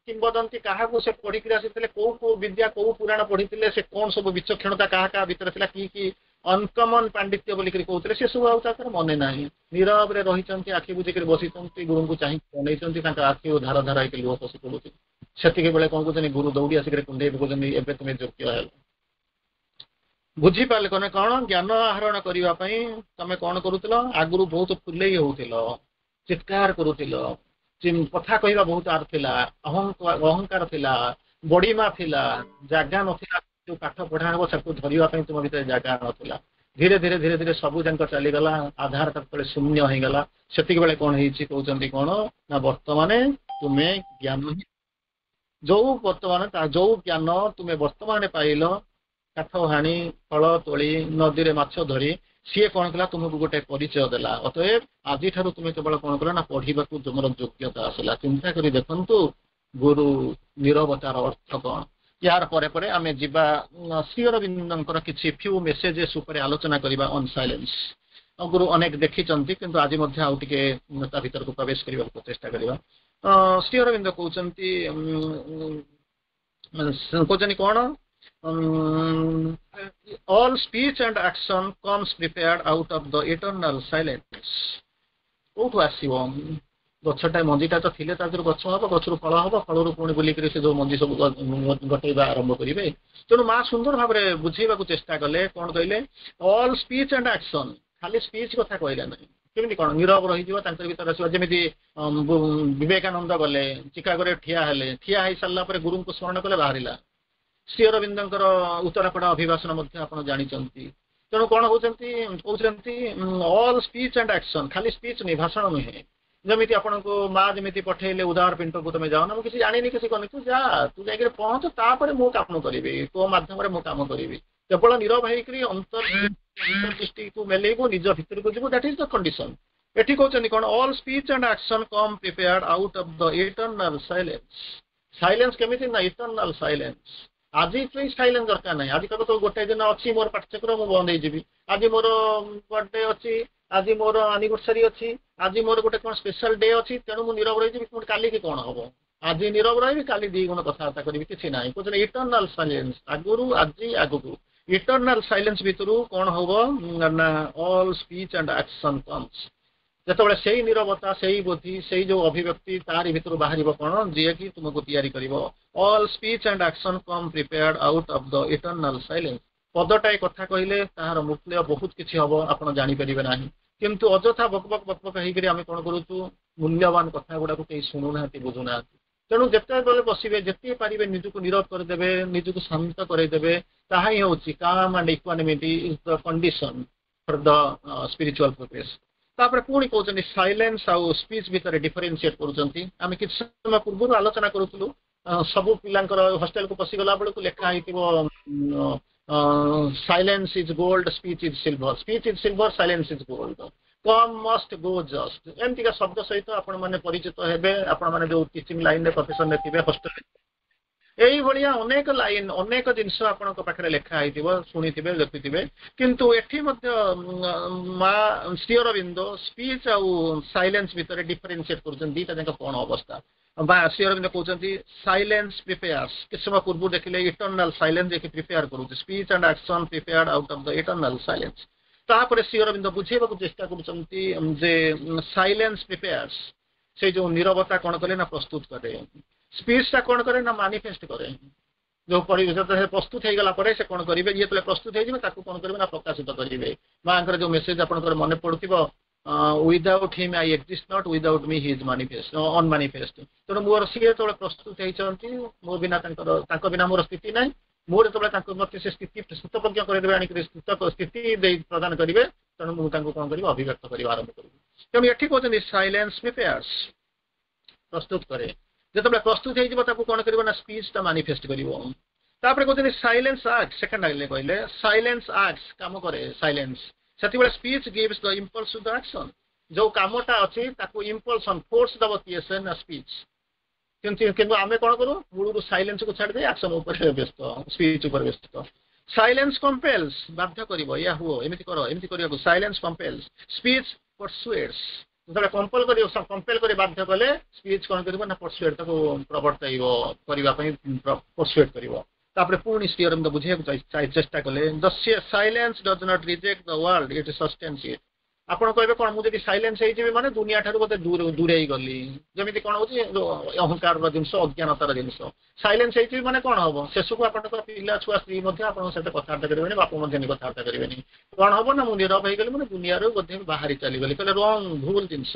କିମ୍ବଦନ୍ତୀ, କାହାକୁ ସେ ପଢିକିରି ଆସିଥିଲେ, କୋଉ କୋଉ ବିଦ୍ୟା, କୋଉ ପୁରାଣ ପଢିଥିଲେ, ସେ କଣ ସବୁ ବିଚକ୍ଷଣତା କାହା କାହା ଭିତରେ ଥିଲା, କି କି ଅନକମନ ପାଣ୍ଡିତ୍ୟ ବୋଲିକରି କହୁଥିଲେ, ସେ ସବୁ ଆଉ ତାଙ୍କର ମନେ ନାହିଁ। ନିରବରେ ରହିଛନ୍ତି, ଆଖି ବୁଜିକିରି ବସିଛନ୍ତି, ଗୁରୁଙ୍କୁ ଚାହିଁ ଅନେଇଛନ୍ତି, ତାଙ୍କ ଆଖି ଧାର ଧାର ହେଇକି ଲୁହ ଖସି ପଡୁଛି। ସେତିକି ବେଳେ କଣ କହୁଛନ୍ତି, ଗୁରୁ ଦୌଡ଼ି ଆସିକରି କୁଣ୍ଢେଇ ପକଉଛନ୍ତି, ଏବେ ତୁମେ ଯୋଗ୍ୟ ହେଲ। ବୁଝିପାରିଲେ କଣ କଣ ଜ୍ଞାନ ଆହରଣ କରିବା ପାଇଁ ତମେ କଣ କରୁଥିଲ? ଆଗରୁ ବହୁତ ଫୁଲେଇ ହଉଥିଲ, ଚିତ୍କାର କରୁଥିଲ, କଥା କହିବା ବହୁତ ଆର ଥିଲା, ଅହଙ୍କାର ଥିଲା, ବଡିମା ଥିଲା, ଜାଗା ନଥିଲା। ଯୋଉ ପାଠ ପଢା ହବ, ତାକୁ ଧରିବା ପାଇଁ ତୁମ ଭିତରେ ଜାଗା ନଥିଲା। ଧୀରେ ଧୀରେ ଧୀରେ ଧୀରେ ସବୁ ଯାକ ଚାଲିଗଲା। ଆଧାର ଯେତେବେଳେ ଶୂନ୍ୟ ହେଇଗଲା, ସେତିକି ବେଳେ କଣ ହେଇଛି? କହୁଛନ୍ତି କଣ ନା ବର୍ତ୍ତମାନ ତୁମେ ଜ୍ଞାନ ହିଁ ଯୋଉ ବର୍ତ୍ତମାନ ଯୋଉ ଜ୍ଞାନ ତୁମେ ବର୍ତ୍ତମାନ ପାଇଲ, କାଠ ହାଣି, ଫଳ ତୋଳି, ନଦୀରେ ମାଛ ଧରି, ସିଏ କଣ କଲା? ତୁମକୁ ଗୋଟେ ପରିଚୟ ଦେଲା। ଅତଏବ ଆଜିଠାରୁ ତୁମେ କେବଳ କଣ କଲ ନା ପଢିବାକୁ ତୁମର ଯୋଗ୍ୟତା ଆସିଲା। ଚିନ୍ତା କରି ଦେଖନ୍ତୁ, ଗୁରୁ ନିରବତାର ଅର୍ଥ କଣ? ୟାର ପରେ ପରେ ଆମେ ଯିବା, ଶ୍ରୀ ଅରବିନ୍ଦଙ୍କର କିଛି ଫ୍ୟୁ ମେସେଜେସ୍ ଉପରେ ଆଲୋଚନା କରିବା ଅନ୍ ସାଇଲେନ୍ସ। ଗୁରୁ ଅନେକ ଦେଖିଛନ୍ତି, କିନ୍ତୁ ଆଜି ମଧ୍ୟ ଆଉ ଟିକେ ତା ଭିତରକୁ ପ୍ରବେଶ କରିବାକୁ ଚେଷ୍ଟା କରିବା। ଶ୍ରୀ ଅରବିନ୍ଦ କହୁଛନ୍ତି କଣ? "All speech and action comes prepared out of the eternal silence." କୋଉଠୁ ଆସିବ? ଗଛଟା ମଞ୍ଜିଟା ତ ଥିଲେ ତା ଦେହରୁ ଗଛ ହବ, ଗଛରୁ ଫଳ ହବ, ଫଳରୁ ପୁଣି ବୁଲିକିରି ସେ ଯୋଉ ମଞ୍ଜି ସବୁ ଗଟେଇବା ଆରମ୍ଭ କରିବେ। ତେଣୁ ମା ସୁନ୍ଦର ଭାବରେ ବୁଝେଇବାକୁ ଚେଷ୍ଟା କଲେ। କଣ କହିଲେ? All speech and action. ଖାଲି ସ୍ପିଚ୍ କଥା କହିଲେ ନାହିଁ। କେମିତି କଣ ନିରବ ରହିଯିବ, ତାଙ୍କର ଭିତରେ ଆସିବ। ଯେମିତି ବିବେକାନନ୍ଦ ଗଲେ, ଚିକାଗୋରେ ଠିଆ ହେଲେ, ଠିଆ ହେଇ ସାରିଲା ପରେ ଗୁରୁଙ୍କୁ ସ୍ମରଣ କଲେ, ବାହାରିଲା। ଶ୍ରୀ ଅରବିନ୍ଦଙ୍କର ଉତ୍ତରାପଡ଼ା ଅଭିଭାଷଣ ମଧ୍ୟ ଆପଣ ଜାଣିଛନ୍ତି। ତେଣୁ କଣ କହୁଛନ୍ତି? କହୁଛନ୍ତି ଅଲ୍ ସ୍ପିଚ୍ ଆଣ୍ଡ ଆକ୍ସନ। ଖାଲି ସ୍ପିଚ୍ ନୁହେଁ, ଭାଷଣ ନୁହେଁ। ଯେମିତି ଆପଣଙ୍କୁ ମା ଯେମିତି ପଠେଇଲେ ଉଦାର ପିଣ୍ଟକୁ, ତମେ ଯାଅ ନା, ମୁଁ କିଛି ଜାଣିନି, କିଛି କରିନି, ତୁ ଯା, ତୁ ଯାଇକିରି ପହଞ୍ଚ, ତାପରେ ମୁଁ କାମ କରିବି, ତୋ ମାଧ୍ୟମରେ ମୁଁ କାମ କରିବି। କେବଳ ନିରବ ହେଇକରି ଅନ୍ତର୍ଦୃଷ୍ଟିକୁ ମେଲେଇବୁ, ନିଜ ଭିତରକୁ ଯିବୁ। That is the condition. ଏଠି କହୁଛନ୍ତି କଣ? "All speech and action come prepared out of the eternal silence." Silence କେମିତି ନା ଇଟର୍ନାଲ ସାଇଲେନ୍ସ। ଆଜି ପାଇଁ ସାଇଲେନ୍ସ ଦରକାର ନାହିଁ। ଆଜି କହିବ ତ ଗୋଟେ ଦିନ ଅଛି ମୋର ପାଠଚକ୍ର, ମୁଁ ବନ୍ଦ ହେଇଯିବି। ଆଜି ମୋର ବର୍ଥଡେ ଅଛି, ଆଜି ମୋର ଆନିଭର୍ସରୀ ଅଛି, ଆଜି ମୋର ଗୋଟେ କଣ ସ୍ପେଶାଲ ଡେ ଅଛି, ତେଣୁ ମୁଁ ନିରବ ରହିଯିବି। ପୁଣି କାଲିକି କଣ ହବ? ଆଜି ନିରବ ରହିବି, କାଲି ଦି ଗୁଣ କଥାବାର୍ତ୍ତା କରିବି, କିଛି ନାହିଁ। କହୁଛନ୍ତି ଇଟର୍ନାଲ ସାଇଲେନ୍ସ। ଆଗରୁ, ଆଜି, ଆଗକୁ ଇଟର୍ନାଲ ସାଇଲେନ୍ସ ଭିତରୁ କଣ ହବ ନା all speech and action comes. ଯେତେବେଳେ ସେଇ ନିରବତା, ସେଇ ବୁଦ୍ଧି, ସେଇ ଯୋଉ ଅଭିବ୍ୟକ୍ତି, ତାରି ଭିତରୁ ବାହାରିବ କଣ, ଯିଏକି ତୁମକୁ ତିଆରି କରିବ। "All speech and action come prepared out of the eternal silence." ପଦଟାଏ କଥା କହିଲେ ତାହାର ମୂଲ୍ୟ ବହୁତ କିଛି ହବ, ଆପଣ ଜାଣିପାରିବେ ନାହିଁ। କିନ୍ତୁ ଅଯଥା ବକ ବକ ବକ ବକ ହେଇକରି ଆମେ କଣ କରୁଛୁ? ମୂଲ୍ୟବାନ କଥା ଗୁଡାକୁ କେହି ଶୁଣୁନାହାନ୍ତି, ବୁଝୁନାହାନ୍ତି। ତେଣୁ ଯେତେବେଳେ ବସିବେ, ଯେତିକି ପାରିବେ ନିଜକୁ ନିରବ କରିଦେବେ, ନିଜକୁ ଶାନ୍ତ କରେଇଦେବେ। ତାହା ହିଁ ହଉଛି calm and equanimity is the condition for the spiritual progress. ତାପରେ ପୁଣି କହୁଛନ୍ତି, ସାଇଲେନ୍ସ ଆଉ ସ୍ପିଚ୍ ଭିତରେ ଡିଫରେନ୍ସିଏଟ୍ କରୁଛନ୍ତି। ଆମେ କିଛି ସମୟ ପୂର୍ବରୁ ଆଲୋଚନା କରୁଥିଲୁ, ସବୁ ପିଲାଙ୍କର ହଷ୍ଟେଲକୁ ପଶିଗଲା ବେଳକୁ ଲେଖା ହେଇଥିବ, "Silence is gold, speech is silver, speech is silver, silence is gold, come must, go just." ଏମିତିକା ଶବ୍ଦ ସହିତ ଆପଣମାନେ ପରିଚିତ ହେବେ। ଆପଣମାନେ ଯୋଉ ଟିଚିଂ ଲାଇନରେ, ପ୍ରଫେସନରେ ଥିବେ, ହଷ୍ଟେଲରେ ଏଇଭଳିଆ ଅନେକ ଲାଇନ, ଅନେକ ଜିନିଷ ଆପଣଙ୍କ ପାଖରେ ଲେଖା ହେଇଥିବ, ଶୁଣିଥିବେ, ଦେଖିଥିବେ। କିନ୍ତୁ ଏଠି ମଧ୍ୟ ମା ଶ୍ରୀ ଅରବିନ୍ଦ ସ୍ପିଚ୍ ଆଉ ସାଇଲେନ୍ସ ଭିତରେ ଡିଫରେନ୍ସିଏଟ୍ କରୁଛନ୍ତି। ଦିଟା ଯାକ କଣ ଅବସ୍ଥା? ବା ଶ୍ରୀ ଅରବିନ୍ଦ କହୁଛନ୍ତି, ସାଇଲେନ୍ସ ପ୍ରିପେୟାର୍ସ। କିଛି ସମୟ ପୂର୍ବରୁ ଦେଖିଲେ ଇଟର୍ନାଲ ସାଇଲେନ୍ସ ଯିଏକି ପ୍ରିପେୟାର କରୁଛି। "Speech and action prepared out of the eternal silence." ତାପରେ ଶ୍ରୀ ଅରବିନ୍ଦ ବୁଝେଇବାକୁ ଚେଷ୍ଟା କରୁଛନ୍ତି ଯେ ସାଇଲେନ୍ସ ପ୍ରିପେୟାର୍ସ। ସେଇ ଯୋଉ ନିରବତା କଣ କଲେ ନା ପ୍ରସ୍ତୁତ କରେ। ସ୍ପିଚଟା କଣ କରେ ନା ମାନିଫେଷ୍ଟ କରେ। ଯୋଉ ପରିବେଶ ପ୍ରସ୍ତୁତ ହେଇଗଲା ପରେ ସେ କଣ କରିବେ? ଯେତେବେଳେ ପ୍ରସ୍ତୁତ ହେଇଯିବେ, ତାକୁ କଣ କରିବେ ନା ପ୍ରକାଶିତ କରିବେ। ମାଙ୍କର ଯୋଉ ମେସେଜ ଆପଣଙ୍କର ମନେ ପଡୁଥିବ, "Without him I exist not, without me he is manifest unmanifest." ତେଣୁ ମୋର ସିଏ ଯେତେବେଳେ ପ୍ରସ୍ତୁତ ହେଇଛନ୍ତି, ମୋ ବିନା ତାଙ୍କର ତାଙ୍କ ବିନା ମୋର ସ୍ଥିତି ନାହିଁ। ମୋର ଯେତେବେଳେ ତାଙ୍କୁ ମତେ ସେ ସ୍ଥିତି ସ୍ଥିତପ୍ରଜ୍ଞ କରିଦେବେ, ଆଣିକରି ସ୍ଥିତି ଦେଇ ପ୍ରଦାନ କରିବେ, ତେଣୁ ମୁଁ ତାଙ୍କୁ କଣ କରିବି? ଅଭିବ୍ୟକ୍ତ କରିବା ଆରମ୍ଭ କରିବି। ତେଣୁ ଏଠି କହୁଛନ୍ତି, ସାଇଲେନ୍ସ ପ୍ରିପେୟାର୍ସ, ପ୍ରସ୍ତୁତ କରେ। ଯେତେବେଳେ ପ୍ରସ୍ତୁତ ହେଇଯିବ, ତାକୁ କଣ କରିବ ନା ସ୍ପିଚଟା ମାନିଫେଷ୍ଟ କରିବ। ତାପରେ କହୁଛନ୍ତି ସାଇଲେନ୍ସ ଆକ୍ଟ। ସେକେଣ୍ଡ ଆଗଲେ କହିଲେ ସାଇଲେନ୍ସ ଆକ୍ଟ, କାମ କରେ ସାଇଲେନ୍ସ। ସେତେବେଳେ speech gives the impulse to the action. ଯୋଉ କାମଟା ଅଛି, ତାକୁ ଇମ୍ପଲ୍ସ, ଫୋର୍ସ ଦବ କିଏ ସେ ନା ସ୍ପିଚ୍। କିନ୍ତୁ ଆମେ କଣ କରୁ? ମୂଳରୁ ସାଇଲେନ୍ସକୁ ଛାଡ଼ିଦେଇ ଆକ୍ସନ ଉପରେ ବ୍ୟସ୍ତ, ସ୍ପିଚ୍ ଉପରେ ବ୍ୟସ୍ତ। ସାଇଲେନ୍ସ କମ୍ପେଲ୍ସ, ବାଧ୍ୟ କରିବ, ୟା ହୁଅ, ଏମିତି କର, ଏମିତି କରିବାକୁ। Silence compels, speech persuades. ଯେତେବେଳେ କମ୍ପଲ କରିବ, କମ୍ପେଲ କରି ବାଧ୍ୟ କଲେ, ସ୍ପିଚ୍ କଣ କରିବ ନା ପରସୁଏଡ୍, ତାକୁ ପ୍ରବର୍ତ୍ତାଇବ କରିବା ପାଇଁ ପରସୁଏଡ୍ କରିବ। ତାପରେ ପୁଣି ଶ୍ରୀ ଅରବିନ୍ଦ ବୁଝେଇବାକୁ ଚେଷ୍ଟା କଲେ, "The silence does not reject the world, it sustains it." ଆପଣ କହିବେ କଣ, ମୁଁ ଯଦି ସାଇଲେନ୍ସ ହେଇଯିବି ମାନେ ଦୁନିଆ ଠାରୁ ବୋଧେ ଦୂରେଇ ଗଲି। ଯେମିତି କଣ ହଉଛି, ଅହଙ୍କାରର ଜିନିଷ, ଅଜ୍ଞାନତାର ଜିନିଷ। ସାଇଲେନ୍ସ ହେଇଯିବି ମାନେ କଣ ହବ? ଶେଷକୁ ଆପଣଙ୍କ ପିଲା ଛୁଆ, ସ୍ତ୍ରୀ ମଧ୍ୟ ଆପଣଙ୍କ ସହିତ କଥାବାର୍ତ୍ତା କରିବେନି, ବାପା ମଧ୍ୟ କଥାବାର୍ତ୍ତା କରିବେନି। କଣ ହବ ନା, ମୁଁ ନିରବ ହେଇଗଲି ମାନେ ଦୁନିଆରୁ ବୋଧେ ବାହାରି ଚାଲିଗଲି। କହିଲେ ରଙ୍ଗ, ଭୁଲ ଜିନିଷ।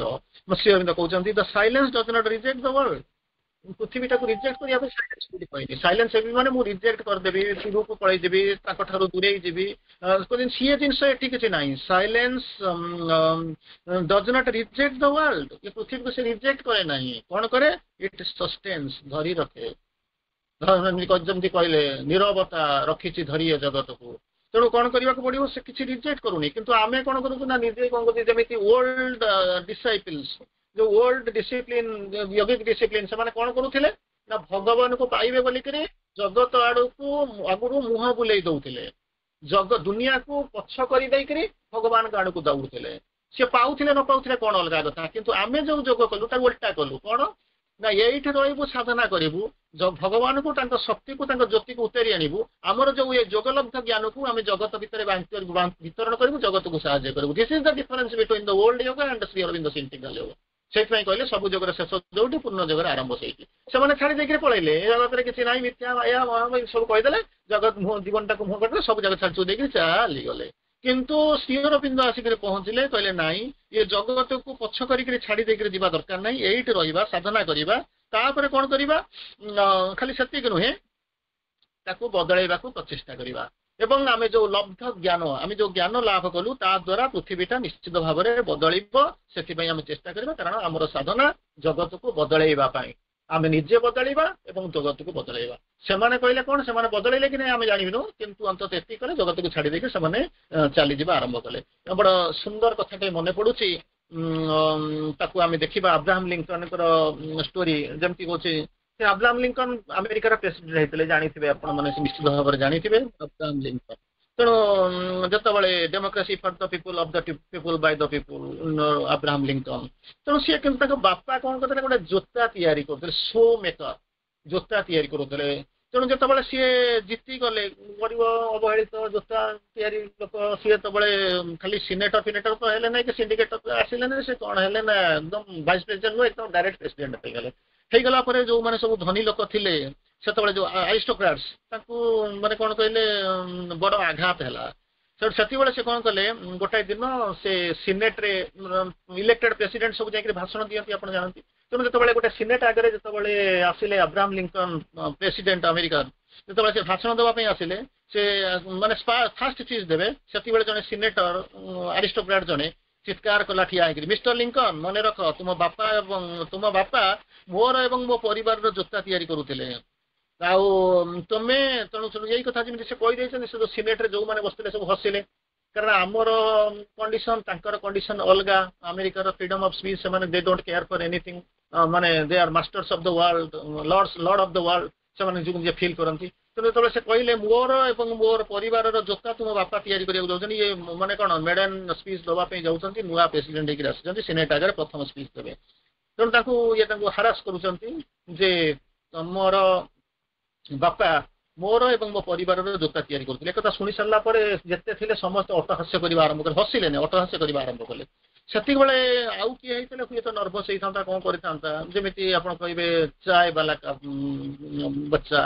ଶ୍ରୀ ଅରବିନ୍ଦ କହୁଛନ୍ତି, "The silence does not reject the world." ପୃଥିବୀଟାକୁ ରିଜେକ୍ଟ କରିବା ପାଇଁ ସାଇଲେନ୍ସ କୋଉଠି କହିନି। ସାଇଲେନ୍ସ ହେବି ମାନେ ମୁଁ ରିଜେକ୍ଟ କରିଦେବି, ଦୂରକୁ ପଳେଇ ଯିବି, ତାଙ୍କ ଠାରୁ ଦୂରେଇ ଯିବି, ସିଏ ଜିନିଷ ଏଠି କିଛି ନାହିଁ। Silence does not reject the world. ଏ ପୃଥିବୀକୁ ସେ ରିଜେକ୍ଟ କରେ ନାହିଁ। କଣ କରେ? It sustains, ଧରି ରଖେ। ଯେମିତି କହିଲେ, ନିରବତା ରଖିଛି ଧରି ଏ ଜଗତକୁ। ତେଣୁ କଣ କରିବାକୁ ପଡିବ? ସେ କିଛି ରିଜେକ୍ଟ କରୁନି। କିନ୍ତୁ ଆମେ କଣ କରୁଛୁ ନା, ନିଜେ କଣ କରୁଛୁ, ଯେମିତି ଓଲ୍ଡ ଡିସାଇପଲ୍ସ, ଯୋଉ ଓଲ୍ଡ ଡିସିପ୍ଲିନ, ୟୋଗିକ ଡିସିପ୍ଲିନ, ସେମାନେ କଣ କରୁଥିଲେ ନା, ଭଗବାନଙ୍କୁ ପାଇବେ ବୋଲିକିରି ଜଗତ ଆଡକୁ ଆଗରୁ ମୁହଁ ବୁଲେଇ ଦଉଥିଲେ। ଦୁନିଆକୁ ପଛ କରିଦେଇକିରି ଭଗବାନଙ୍କ ଆଡକୁ ଦୌଡୁଥିଲେ। ସେ ପାଉଥିଲେ ନ ପାଉଥିଲେ କଣ ଅଲଗା କଥା। କିନ୍ତୁ ଆମେ ଯୋଉ ଯୋଗ କଲୁ, ତାକୁ ଓଲଟା କଲୁ। କଣ ନା, ଏଇଠି ରହିବୁ, ସାଧନା କରିବୁ, ଭଗବାନଙ୍କୁ, ତାଙ୍କ ଶକ୍ତିକୁ, ତାଙ୍କ ଜ୍ୟୋତିକୁ ଉତାରି ଆଣିବୁ। ଆମର ଯୋଉ ଏ ଯୋଗଲବ୍ଧ ଜ୍ଞାନକୁ ଆମେ ଜଗତ ଭିତରେ ବିତରଣ କରିବୁ, ଜଗତକୁ ସାହାଯ୍ୟ କରିବୁ। This is the difference between the old yoga and Sri Aurobindo integral yoga. ସେଇଥିପାଇଁ କହିଲେ, ସବୁ ଯୋଗର ଶେଷ ଯୋଉଠି, ପୂର୍ଣ୍ଣ ଯୋଗର ଆରମ୍ଭ ସେଇଠି। ସେମାନେ ଛାଡି ଦେଇକିରି ପଳେଇଲେ। ଏ ଜଗତରେ କିଛି ନାହିଁ, ମିଥ୍ୟା, ମାୟା, ସବୁ କହିଦେଲେ। ଜଗତ ମୁହଁ, ଜୀବନଟାକୁ ମୁହଁ କରିଦେଲେ, ସବୁ ଜାଗା ଛାଡି ଦେଇକିରି ଚାଲିଗଲେ। କିନ୍ତୁ ଶ୍ରୀ ଅରବିନ୍ଦ ଆସିକରି ପହଞ୍ଚିଲେ, କହିଲେ ନାଇଁ, ଏ ଜଗତକୁ ପଛ କରିକିରି ଛାଡି ଦେଇକିରି ଯିବା ଦରକାର ନାହିଁ। ଏଇଠି ରହିବା, ସାଧନା କରିବା। ତାପରେ କଣ କରିବା? ଖାଲି ସେତିକି ନୁହେଁ, ତାକୁ ବଦଳେଇବାକୁ ପ୍ରଚେଷ୍ଟା କରିବା ଏବଂ ଆମେ ଯୋଉ ଲବ୍ଧ ଜ୍ଞାନ, ଆମେ ଯୋଉ ଜ୍ଞାନ ଲାଭ କଲୁ, ତା ଦ୍ୱାରା ପୃଥିବୀଟା ନିଶ୍ଚିତ ଭାବରେ ବଦଳିବ। ସେଥିପାଇଁ ଆମେ ଚେଷ୍ଟା କରିବା। କାରଣ ଆମର ସାଧନା ଜଗତକୁ ବଦଳେଇବା ପାଇଁ। ଆମେ ନିଜେ ବଦଳିବା ଏବଂ ଜଗତକୁ ବଦଳେଇବା। ସେମାନେ କହିଲେ କଣ, ସେମାନେ ବଦଳେଇଲେ କି ନାହିଁ ଆମେ ଜାଣିବିନୁ, କିନ୍ତୁ ଅନ୍ତତଃ ଏତିକି କଲେ, ଜଗତକୁ ଛାଡି ଦେଇକି ସେମାନେ ଚାଲିଯିବା ଆରମ୍ଭ କଲେ। ବଡ ସୁନ୍ଦର କଥାଟେ ମନେ ପଡୁଛି, ତାକୁ ଆମେ ଦେଖିବା। ଆବ୍ରାହମ ଲିଙ୍କନଙ୍କର ଷ୍ଟୋରି ଯେମିତି କହୁଛି। ସେ ଆବ୍ରାହମ ଲିଙ୍କନ ଆମେରିକାର ପ୍ରେସିଡେଣ୍ଟ ହେଇଥିଲେ, ଜାଣିଥିବେ ଆପଣ ମାନେ, ନିଶ୍ଚିତ ଭାବରେ ଜାଣିଥିବେ ଆବ୍ରାହମ ଲିଙ୍କନ। ତେଣୁ ଯେତେବେଳେ democracy for the people, of the people, by the people, Abraham Lincoln. ତେଣୁ ସିଏ କିନ୍ତୁ ତାଙ୍କ ବାପା କଣ କରୁଥିଲେ? ଗୋଟେ ଜୋତା ତିଆରି କରୁଥିଲେ, ସୁ ମେକର, ଜୋତା ତିଆରି କରୁଥିଲେ। ତେଣୁ ଯେତେବେଳେ ସିଏ ଜିତିଗଲେ, ଗରିବ ଅବହେଳିତ ଜୋତା ତିଆରି ଲୋକ, ସିଏ ଯେତେବେଳେ ଖାଲି ସିନେଟର ଫିନେଟର ତ ହେଲେ ନାହିଁ କି ସିଣ୍ଡିକେଟର ଆସିଲେ ନାହିଁ, ସେ କଣ ହେଲେ ନା, ଏକଦମ ଭାଇସ୍ ପ୍ରେସିଡେଣ୍ଟ ନୁହେଁ, ଏକଦମ ଡାଇରେକ୍ଟ ପ୍ରେସିଡେଣ୍ଟ ହେଇଗଲେ। ହେଇଗଲା ପରେ ଯୋଉମାନେ ସବୁ ଧନୀ ଲୋକ ଥିଲେ ସେତେବେଳେ, ଯୋଉ ଆରିଷ୍ଟୋକ୍ରାଟ୍ସ, ତାଙ୍କୁ ମାନେ କଣ କହିଲେ, ବଡ ଆଘାତ ହେଲା। ସେଠୁ ସେତିକିବେଳେ ସେ କଣ କଲେ, ଗୋଟାଏ ଦିନ ସେ ସିନେଟରେ, ଇଲେକ୍ଟେଡ ପ୍ରେସିଡେଣ୍ଟ ସବୁ ଯାଇକରି ଭାଷଣ ଦିଅନ୍ତି, ଆପଣ ଜାଣନ୍ତି। ତେଣୁ ଯେତେବେଳେ ଗୋଟେ ସିନେଟ ଆଗରେ ଯେତେବେଳେ ଆସିଲେ ଆବ୍ରାହମ ଲିଙ୍କନ, ପ୍ରେସିଡେଣ୍ଟ ଆମେରିକାର, ଯେତେବେଳେ ସେ ଭାଷଣ ଦେବା ପାଇଁ ଆସିଲେ, ସେ ମାନେ ଫାଷ୍ଟ ସ୍ପିଚ୍ ଦେବେ, ସେତିକିବେଳେ ଜଣେ ସିନେଟର, ଆରିଷ୍ଟୋକ୍ରାଟ ଜଣେ ଚିତ୍କାର କଲା ଠିଆ ହେଇକିରି, "ମିଷ୍ଟର ଲିଙ୍କନ, ମନେ ରଖ, ତୁମ ବାପା ଏବଂ ତୁମ ବାପା ମୋର ଏବଂ ମୋ ପରିବାରର ଜୋତା ତିଆରି କରୁଥିଲେ ଆଉ ତୁମେ।" ତେଣୁ ଏଇ କଥା ଯେମିତି ସେ କହିଦେଇଛନ୍ତି, ସେ ଯୋଉ ସିନେଟରେ ଯୋଉମାନେ ବସିଥିଲେ ସବୁ ହସିଲେ। କାରଣ ଆମର କଣ୍ଡିସନ, ତାଙ୍କର କଣ୍ଡିସନ ଅଲଗା। ଆମେରିକାର ଫ୍ରିଡମ ଅଫ ସ୍ପିଚ୍, ସେମାନେ they don't care for anything. ମାନେ they are masters of the world, lord of the world, ସେମାନେ ନିଜକୁ ନିଜେ ଫିଲ୍ କରନ୍ତି। ତେଣୁ ଯେତେବେଳେ ସେ କହିଲେ, ମୋର ଏବଂ ମୋର ପରିବାରର ଜୋତା ତୁମ ବାପା ତିଆରି କରିବାକୁ ଯାଉଛନ୍ତି, ଇଏ ମାନେ କଣ ମେଡେନ୍ ସ୍ପିଚ୍ ଦେବା ପାଇଁ ଯାଉଛନ୍ତି, ନୂଆ ପ୍ରେସିଡେଣ୍ଟ ହେଇକି ଆସିଛନ୍ତି, ସିନେଟ ଆଗରେ ପ୍ରଥମ ସ୍ପିଚ୍ ଦେବେ। ତେଣୁ ତାଙ୍କୁ ଇଏ ତାଙ୍କୁ ହାରାସ କରୁଛନ୍ତି ଯେ ତମର ବାପା ମୋର ଏବଂ ମୋ ପରିବାରର ଜୋତା ତିଆରି କରୁଥିଲେ। ଏକଥା ଶୁଣି ସାରିଲା ପରେ ଯେତେ ଥିଲେ ସମସ୍ତେ ଅଟହାସ୍ୟ କରିବା ଆରମ୍ଭ କଲେ। ହସିଲେନି, ଅଟହାସ୍ୟ କରିବା ଆରମ୍ଭ କଲେ। ସେତିକିବେଳେ ଆଉ କିଏ ହେଇଥିଲେ ହୁଏତ ନର୍ଭସ ହେଇଥାନ୍ତା, କଣ କରିଥାନ୍ତା। ଯେମିତି ଆପଣ କହିବେ चाय वाला बच्चा,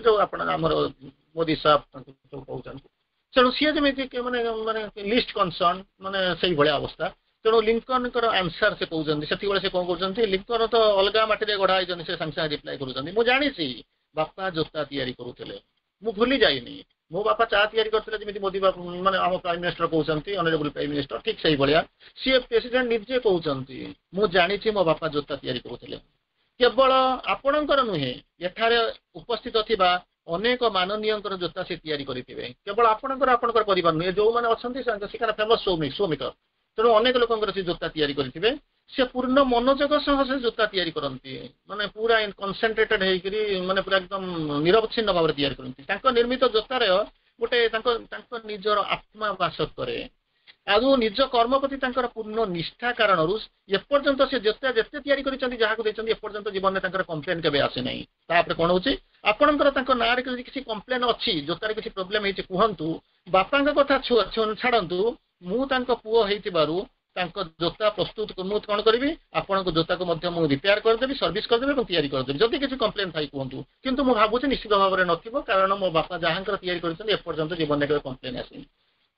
ଯୋଉ ଆପଣ ଆମର ମୋଦି ସାହେବ ତାଙ୍କୁ ସବୁ କହୁଛନ୍ତି। ତେଣୁ ସିଏ ଯେମିତି ମାନେ ମାନେ ଲିଷ୍ଟ କନସର୍ନ, ମାନେ ସେଇଭଳିଆ ଅବସ୍ଥା। ତେଣୁ ଲିଙ୍କନଙ୍କର ଆନ୍ସର ସେ କହୁଛନ୍ତି, ସେତିକିବେଳେ ସେ କଣ କହୁଛନ୍ତି, ଲିଙ୍କନ ତ ଅଲଗା ମାଟିରେ ଗଢା ହେଇଛନ୍ତି। ସେ ସାଙ୍ଗେ ସାଙ୍ଗେ ରିପ୍ଲାଏ କରୁଛନ୍ତି, "ମୁଁ ଜାଣିଛି ବାପା ଜୋତା ତିଆରି କରୁଥିଲେ। ମୁଁ ଭୁଲି ଯାଇନି। ମୋ ବାପା ଚା ତିଆରି କରିଥିଲେ।" ଯେମିତି ମୋଦି ବାପା, ମାନେ ଆମ ପ୍ରାଇମ ମିନିଷ୍ଟର କହୁଛନ୍ତି, ଅନରେବୁଲ ପ୍ରାଇମ ମିନିଷ୍ଟର, ଠିକ ସେଇଭଳିଆ ସିଏ ପ୍ରେସିଡେଣ୍ଟ ନିଜେ କହୁଛନ୍ତି, "ମୁଁ ଜାଣିଛି ମୋ ବାପା ଜୋତା ତିଆରି କରୁଥିଲେ। କେବଳ ଆପଣଙ୍କର ନୁହେଁ, ଏଠାରେ ଉପସ୍ଥିତ ଥିବା ଅନେକ ମାନନୀୟଙ୍କର ଜୋତା ସେ ତିଆରି କରିଥିବେ। କେବଳ ଆପଣଙ୍କର, ଆପଣଙ୍କର ପରିବାର ନୁହେଁ, ଯୋଉମାନେ ଅଛନ୍ତି, ସେ ଫେମସ ସୁ ମେକର, ତେଣୁ ଅନେକ ଲୋକଙ୍କର ସେ ଜୋତା ତିଆରି କରିଥିବେ। ସେ ପୂର୍ଣ୍ଣ ମନୋଯୋଗ ସହ ସେ ଜୋତା ତିଆରି କରନ୍ତି, ମାନେ ପୁରା କନସେନ୍ଟ୍ରେଟେଡ ହେଇକିରି, ମାନେ ପୁରା ଏକଦମ ନିରବଚ୍ଛିନ୍ନ ଭାବରେ ତିଆରି କରନ୍ତି। ତାଙ୍କ ନିର୍ମିତ ଜୋତାର ଗୋଟେ ତାଙ୍କ ତାଙ୍କ ନିଜର ଆତ୍ମା ବାସ କରେ। ଆଉ ନିଜ କର୍ମ ପ୍ରତି ତାଙ୍କର ପୂର୍ଣ୍ଣ ନିଷ୍ଠା କାରଣରୁ ଏପର୍ଯ୍ୟନ୍ତ ସେ ଯେତେ ଯେତେ ତିଆରି କରିଛନ୍ତି, ଯାହାକୁ ଦେଇଛନ୍ତି, ଏପର୍ଯ୍ୟନ୍ତ ଜୀବନରେ ତାଙ୍କର କମ୍ପ୍ଲେନ କେବେ ଆସିନାହିଁ।" ତାପରେ କଣ ହଉଛି, "ଆପଣଙ୍କର ତାଙ୍କ ନାଁରେ ଯଦି କିଛି କମ୍ପ୍ଲେନ ଅଛି, ଜୋତାରେ କିଛି ପ୍ରୋବ୍ଲେମ ହେଇଛି, କୁହନ୍ତୁ। ବାପାଙ୍କ କଥା ଛାଡନ୍ତୁ, ମୁଁ ତାଙ୍କ ପୁଅ ହେଇଥିବାରୁ ତାଙ୍କ ଜୋତା ପ୍ରସ୍ତୁତ, ମୁଁ କଣ କରିବି, ଆପଣଙ୍କ ଜୋତାକୁ ମଧ୍ୟ ମୁଁ ରିପେୟାର କରିଦେବି, ସର୍ଭିସ କରିଦେବି ଏବଂ ତିଆରି କରିଦେବି। ଯଦି କିଛି କମ୍ପ୍ଲେନ ଥାଇ କୁହନ୍ତୁ, କିନ୍ତୁ ମୁଁ ଭାବୁଛି ନିଶ୍ଚିତ ଭାବରେ ନଥିବ, କାରଣ ମୋ ବାପା ଯାହାଙ୍କର ତିଆରି କରିଛନ୍ତି, ଏପର୍ଯ୍ୟନ୍ତ ଜୀବନରେ କେବେ କମ୍ପ୍ଲେନ ଆସିନି।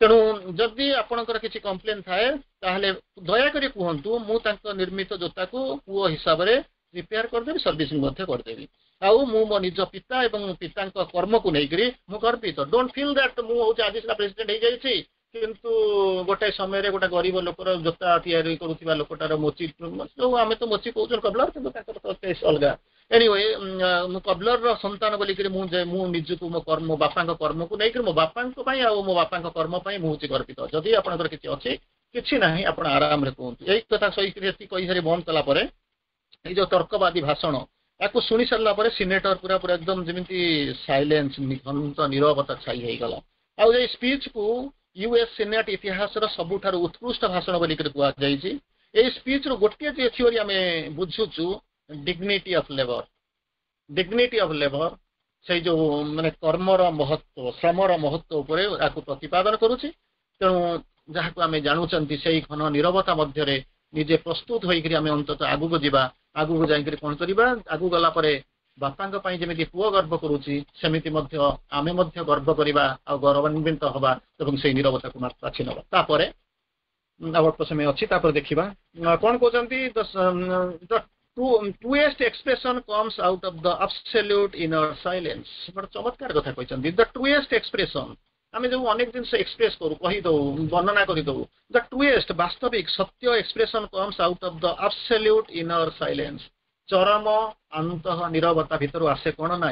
ତେଣୁ ଯଦି ଆପଣଙ୍କର କିଛି କମ୍ପ୍ଲେନ ଥାଏ, ତାହେଲେ ଦୟାକରି କୁହନ୍ତୁ। ମୁଁ ତାଙ୍କ ନିର୍ମିତ ଜୋତାକୁ ପୁଅ ହିସାବରେ ରିପେୟାର କରିଦେବି, ସର୍ଭିସିଂ ମଧ୍ୟ କରିଦେବି। ଆଉ ମୁଁ ମୋ ନିଜ ପିତା ଏବଂ ପିତାଙ୍କ କର୍ମକୁ ନେଇକରି ମୁଁ ଗର୍ବିତ। Don't feel that ମୁଁ ହଉଛି ଆଜି ସିନା ପ୍ରେସିଡେଣ୍ଟ ହେଇଯାଇଛି, କିନ୍ତୁ ଗୋଟେ ସମୟରେ ଗୋଟେ ଗରିବ ଲୋକର ଜୋତା ତିଆରି କରୁଥିବା ଲୋକଟାର ମୋଚି, ଯୋଉ ଆମେ ତ ମୋଚି କହୁଛୁ କବଲର, କିନ୍ତୁ ତାଙ୍କର ତ କେସ୍ ଅଲଗା। ଏନିୱେ, ମୁଁ କବଲରର ସନ୍ତାନ ବୋଲିକିରି ମୁଁ ନିଜକୁ ମୋ କର୍ମ, ମୋ ବାପାଙ୍କ କର୍ମକୁ ନେଇକରି, ମୋ ବାପାଙ୍କ ପାଇଁ ଆଉ ମୋ ବାପାଙ୍କ କର୍ମ ପାଇଁ ମୁଁ ହଉଛି ଗର୍ବିତ। ଯଦି ଆପଣଙ୍କର କିଛି ଅଛି, କିଛି ନାହିଁ, ଆପଣ ଆରାମରେ କୁହନ୍ତୁ। ଏଇ କଥା କହିକିରି, ଏତିକି କହିସାରି ବନ୍ଦ କଲା ପରେ, ଏଇ ଯୋଉ ତର୍କବାଦୀ ଭାଷଣ, ତାକୁ ଶୁଣି ସାରିଲା ପରେ ସିନେଟର ପୁରା ପୁରା ଏକଦମ ଯେମିତି ସାଇଲେନ୍ସ, ଘନ୍ତ ନିରବତା ଛାଇ ହେଇଗଲା। ଆଉ ଏଇ ସ୍ପିଚକୁ ୟୁଏସ୍ ସିନେଟ ଇତିହାସର ସବୁଠାରୁ ଉତ୍କୃଷ୍ଟ ଭାଷଣ ବୋଲିକରି କୁହାଯାଇଛି। ଏଇ ସ୍ପିଚରୁ ଗୋଟିଏ ଯେ ଥିଓରି ଆମେ ବୁଝୁଛୁ, dignity of labour, dignity of labour, ସେଇ ଯୋଉ ମାନେ କର୍ମର ମହତ୍ଵ, ଶ୍ରମର ମହତ୍ଵ ଉପରେ ଏହାକୁ ପ୍ରତିପାଦନ କରୁଛି। ତେଣୁ ଯାହାକୁ ଆମେ ଜାଣୁଛନ୍ତି, ସେଇ ଘନ ନିରବତା ମଧ୍ୟରେ ନିଜେ ପ୍ରସ୍ତୁତ ହୋଇକରି ଆମେ ଅନ୍ତତଃ ଆଗକୁ ଯିବା। ଆଗକୁ ଯାଇକରି କଣ କରିବା? ଆଗକୁ ଗଲା ପରେ ବାପାଙ୍କ ପାଇଁ ଯେମିତି ପୁଅ ଗର୍ବ କରୁଛି, ସେମିତି ମଧ୍ୟ ଆମେ ମଧ୍ୟ ଗର୍ବ କରିବା ଆଉ ଗୌରବାନ୍ୱିତ ହବା ଏବଂ ସେଇ ନିରବତାକୁ ବାଛି ନେବା। ତାପରେ ଆଉ ଅଳ୍ପ ସମୟ ଅଛି, ତାପରେ ଦେଖିବା କଣ କହୁଛନ୍ତି। The truest expression comes out of the absolute inner silence. ବଡ ଚମତ୍କାର କଥା କହିଛନ୍ତି। ଦ ଟ୍ରୁଏଷ୍ଟ ଏକ୍ସପ୍ରେସନ, ଆମେ ଯୋଉ ଅନେକ ଜିନିଷ ଏକ୍ସପ୍ରେସ କରୁ, କହିଦଉ, ବର୍ଣ୍ଣନା କରିଦଉ, ଦ ଟ୍ରୁଏଷ୍ଟ, ବାସ୍ତବିକ ସତ୍ୟ expression comes out of the absolute inner silence. ଚରମ ଅନ୍ତଃ ନିରବତା ଭିତରୁ ଆସେ କଣ ନା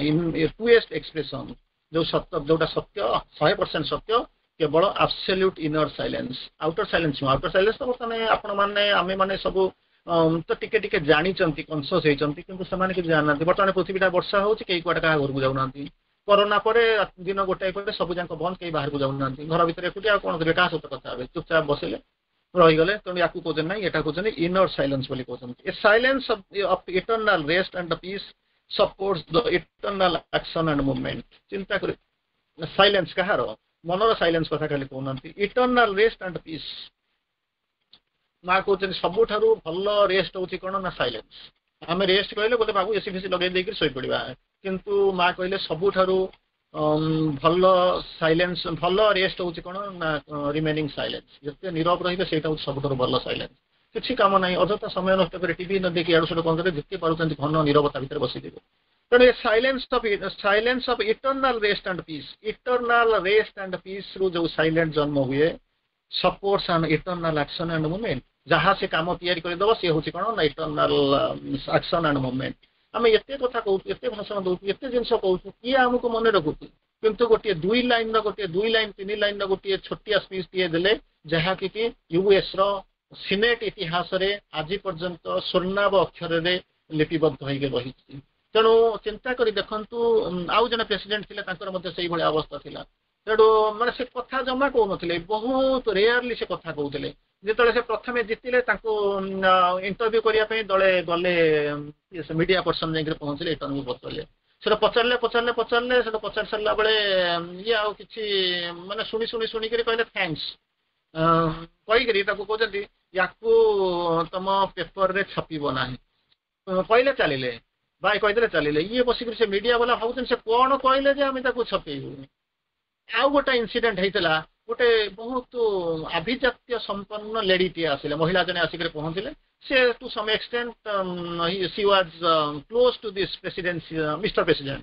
ଟ୍ରୁଏଷ୍ଟ ଏକ୍ସପ୍ରେସନ, ଯୋଉ ସତ୍ୟ, ଯୋଉଟା ସତ୍ୟ, 100% ସତ୍ୟ, କେବଳ absolute inner silence, outer silence ନୁହଁ। ଆଉଟର ସାଇଲେନ୍ସ ତ ବର୍ତ୍ତମାନ ଆପଣମାନେ, ଆମେ ମାନେ ସବୁ ତ ଟିକେ ଟିକେ ଜାଣିଛନ୍ତି, କନସିୟସ ହେଇଛନ୍ତି, କିନ୍ତୁ ସେମାନେ କିଛି ଜାଣିନାହାନ୍ତି। ବର୍ତ୍ତମାନ ପୃଥିବୀଟା ବର୍ଷା ହଉଛି, କେହି କୁଆଡେ କାହା ଘରକୁ ଯାଉନାହାନ୍ତି। କରୋନା ପରେ ଦିନ ଗୋଟାଏ ପରେ ସବୁ ଯାକ ବନ୍ଦ, କେହି ବାହାରକୁ ଯାଉନାହାନ୍ତି। ଘର ଭିତରେ ଏକୁଟିଆ, ଆଉ କଣ କରିବେ? କାହା ସହିତ କଥା ହେବେ? ଚୁପଚାପ ବସିଲେ, ରହିଗଲେ। ତେଣୁ ୟାକୁ କହୁଛନ୍ତି ନାହିଁ, ଏଟା କହୁଛନ୍ତି ଇନର ସାଇଲେନ୍ସ ବୋଲି କହୁଛନ୍ତି। A silence of eternal rest and peace supports the eternal action and movement. ଚିନ୍ତା କରି, ସାଇଲେନ୍ସ କାହାର? ମନର ସାଇଲେନ୍ସ କଥା ଖାଲି କହୁନାହାନ୍ତି। ଇଟର୍ନାଲ ରେଷ୍ଟ ଆଣ୍ଡ ପିସ୍, ମା କହୁଛନ୍ତି ସବୁଠାରୁ ଭଲ ରେଷ୍ଟ ହଉଛି କଣ ନା ସାଇଲେନ୍ସ। ଆମେ ରେଷ୍ଟ କହିଲେ ବୋଧେ ଭାବୁ ଏସି ଫେସି ଲଗେଇ ଦେଇକି ଶୋଇପଡିବା, କିନ୍ତୁ ମା କହିଲେ ସବୁଠାରୁ ଭଲ ସାଇଲେନ୍ସ, ଭଲ ରେଷ୍ଟ ହଉଛି କଣ ନା ରିମେନିଂ ସାଇଲେନ୍ସ। ଯେତେ ନିରବ ରହିବେ, ସେଇଟା ହଉଛି ସବୁଠାରୁ ଭଲ ସାଇଲେନ୍ସ। କିଛି କାମ ନାହିଁ, ଅଯଥା ସମୟ ନଷ୍ଟ କରି ଟିଭି ନ ଦେଖି ଇଆଡୁ ସିଆଡୁ କଣ କରିବେ? ଯେତେ ପାରୁଛନ୍ତି ଘନ ନିରବତା ଭିତରେ ବସିଯିବେ। ତେଣୁ ଏ silence of eternal rest and peace, eternal rest and peace ରୁ ଯୋଉ ସାଇଲେନ୍ସ ଜନ୍ମ ହୁଏ, supports an eternal action and movement. ଯାହା ସେ କାମ ତିଆରି କରିଦେବ, ସେ ହଉଛି କଣ ନା ଇଟର୍ନାଲ ଆକ୍ସନ ଆଣ୍ଡ ମୁଭମେଣ୍ଟ। ଆମେ ଏତେ କଥା କହୁଛୁ, ଏତେ ଭାଷଣ ଦଉଛୁ, ଏତେ ଜିନିଷ କହୁଛୁ, କିଏ ଆମକୁ ମନେ ରଖୁଛି? କିନ୍ତୁ ଗୋଟିଏ ଦୁଇ ଲାଇନର, ଗୋଟିଏ ଦୁଇ ଲାଇନ ତିନି ଲାଇନର ଗୋଟିଏ ଛୋଟିଆ ସ୍ପିଚ୍ ଟିଏ ଦେଲେ, ଯାହାକି କି ୟୁଏସ୍ ର ସିନେଟ ଇତିହାସରେ ଆଜି ପର୍ଯ୍ୟନ୍ତ ସ୍ୱର୍ଣ୍ଣାଭ ଅକ୍ଷରରେ ଲିପିବଦ୍ଧ ହେଇକି ରହିଛି। ତେଣୁ ଚିନ୍ତା କରି ଦେଖନ୍ତୁ, ଆଉ ଜଣେ ପ୍ରେସିଡେଣ୍ଟ ଥିଲେ, ତାଙ୍କର ମଧ୍ୟ ସେଇଭଳିଆ ଅବସ୍ଥା ଥିଲା। ତେଣୁ ମାନେ ସେ କଥା ଜମା କହୁନଥିଲେ, ବହୁତ ରେୟାରଲି ସେ କଥା କହୁଥିଲେ। ଯେତେବେଳେ ସେ ପ୍ରଥମେ ଜିତିଲେ, ତାଙ୍କୁ ଇଣ୍ଟରଭ୍ୟୁ କରିବା ପାଇଁ ଦଳେ ଗଲେ, ମିଡିଆ ପର୍ସନ ଯାଇକରି ପହଞ୍ଚିଲେ, ଇଣ୍ଟରଭ୍ୟୁ ପଚାରିଲେ। ସେଟା ପଚାରିଲେ, ପଚାରିଲେ, ପଚାରିଲେ। ସେଟା ପଚାରି ସାରିଲା ବେଳେ ଇଏ ଆଉ କିଛି ମାନେ ଶୁଣି ଶୁଣି ଶୁଣିକରି କହିଲେ thanks କହିକିରି ତାକୁ କହୁଛନ୍ତି, ୟାକୁ ତମ ପେପରରେ ଛାପିବ ନାହିଁ। କହିଲେ, ଚାଲିଲେ, ବାଇ କହିଦେଲେ, ଚାଲିଲେ। ଇଏ ବସିକରି ସେ ମିଡିଆ ବାଲା ଭାବୁଛନ୍ତି, ସେ କଣ କହିଲେ ଯେ ଆମେ ତାକୁ ଛପେଇବୁ? ଆଉ ଗୋଟେ ଇନସିଡେଣ୍ଟ ହେଇଥିଲା। ଗୋଟେ ବହୁତ ଆଭିଜାତ୍ୟ ସମ୍ପନ୍ନ ଲେଡିଟିଏ ଆସିଲେ, ମହିଳା ଜଣେ ଆସିକରି ପହଞ୍ଚିଲେ। ସେ to some extent she was close to this president, Mister President.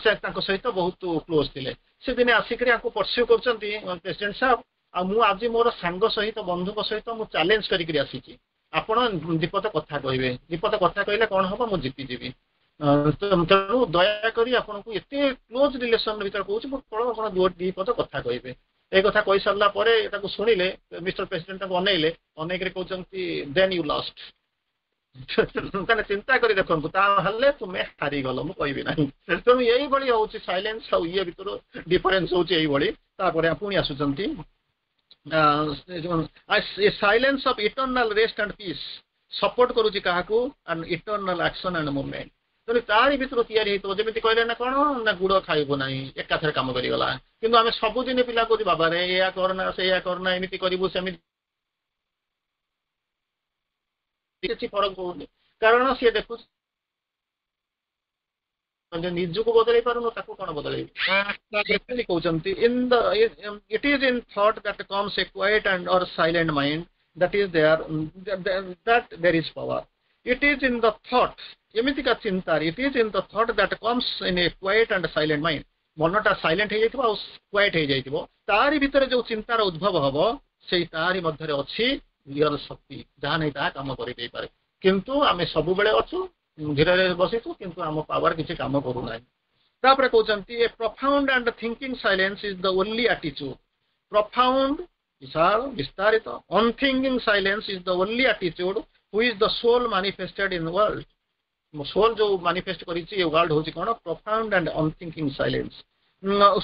ସେ ତାଙ୍କ ସହିତ ବହୁତ କ୍ଲୋଜ ଥିଲେ। ସେ ଦିନେ ଆସିକରି ଆକୁ ପରସ୍ୟୁ କରୁଛନ୍ତି, ପ୍ରେସିଡେଣ୍ଟ ସାହେବ, ଆଉ ମୁଁ ଆଜି ମୋର ସାଙ୍ଗ ସହିତ, ବନ୍ଧୁଙ୍କ ସହିତ ମୁଁ ଚ୍ୟାଲେଞ୍ଜ କରିକିରି ଆସିଛି। ଆପଣ ଦିପଦ କଥା କହିବେ। ଦିପଦ କଥା କହିଲେ କଣ ହବ? ମୁଁ ଜିତିଯିବି। ତେଣୁ ଦୟାକରି ଆପଣଙ୍କୁ ଏତେ କ୍ଲୋଜ ରିଲେସନ ଭିତରେ କହୁଛି ମୁଁ, କଣ ଆପଣ ଦି ପଦ କଥା କହିବେ। ଏଇ କଥା କହି ସାରିଲା ପରେ ତାକୁ ଶୁଣିଲେ, ମିଷ୍ଟର ପ୍ରେସିଡେଣ୍ଟ ତାକୁ ଅନେଇଲେ, ଅନେଇକରି କହୁଛନ୍ତି, "Then you lost." ତାହେଲେ ଚିନ୍ତା କରି ଦେଖନ୍ତୁ, ତାହେଲେ ତୁମେ ହାରିଗଲ, ମୁଁ କହିବି ନାହିଁ। ତେଣୁ ଏଇଭଳି ହଉଛି ସାଇଲେନ୍ସ ଆଉ ଇଏ ଭିତରୁ ଡିଫରେନ୍ସ ହଉଛି ଏଇଭଳି। ତାପରେ ପୁଣି ଆସୁଛନ୍ତି, silence of eternal rest and peace support କରୁଛି କାହାକୁ? And eternal action and movement. ତେଣୁ ତାରି ଭିତରୁ ତିଆରି ହେଇଥିବ। ଯେମିତି କହିଲେ ନା କଣ ନା ଗୁଡ ଖାଇବୁ ନାହିଁ, ଏକାଥରେ କାମ କରିଗଲା। କିନ୍ତୁ ଆମେ ସବୁଦିନ ପିଲା କହୁଛୁ, ବାବାରେ, ଏଇଆ କରନା, ସେଇଆ କରନା, ଏମିତି କରିବୁ, ସେମିତି କିଛି ଫରକ ପଡୁନି, କାରଣ ସିଏ ଦେଖୁଛି ନିଜକୁ ବଦଳେଇ ପାରୁନୁ, ତାକୁ କଣ ବଦଳେଇବି? କହୁଛନ୍ତି, in the it is in thought that comes a quiet and or silent mind that is there, that there is power. It is in the thought, ଏମିତିକା ଚିନ୍ତା, it is in the thought that comes in a quiet and silent mind. ମନଟା silent ହେଇଯାଇଥିବ ଆଉ quite ହେଇଯାଇଥିବ, ତାରି ଭିତରେ ଯୋଉ ଚିନ୍ତାର ଉଦ୍ଭବ ହବ, ସେଇ ତାରି ମଧ୍ୟରେ ଅଛି ରିଅଲ ଶକ୍ତି, ଯାହା ନେଇ ତାହା କାମ କରିଦେଇପାରେ। କିନ୍ତୁ ଆମେ ସବୁବେଳେ ଅଛୁ, ଧୀରେ ବସିଛୁ, କିନ୍ତୁ ଆମ ପାୱାର କିଛି କାମ କରୁନାହିଁ। ତାପରେ କହୁଛନ୍ତି, a profound and thinking silence is the only attitude. Profound, ବିଶାଳ, ବିସ୍ତାରିତ, unthinking silence is the only attitude which the soul manifested in world. Soul ଯୋଉ ମାନିଫେଷ୍ଟ କରିଛି ଏ ୱାର୍ଲଡ ହଉଛି କଣ? Profound and unthinking silence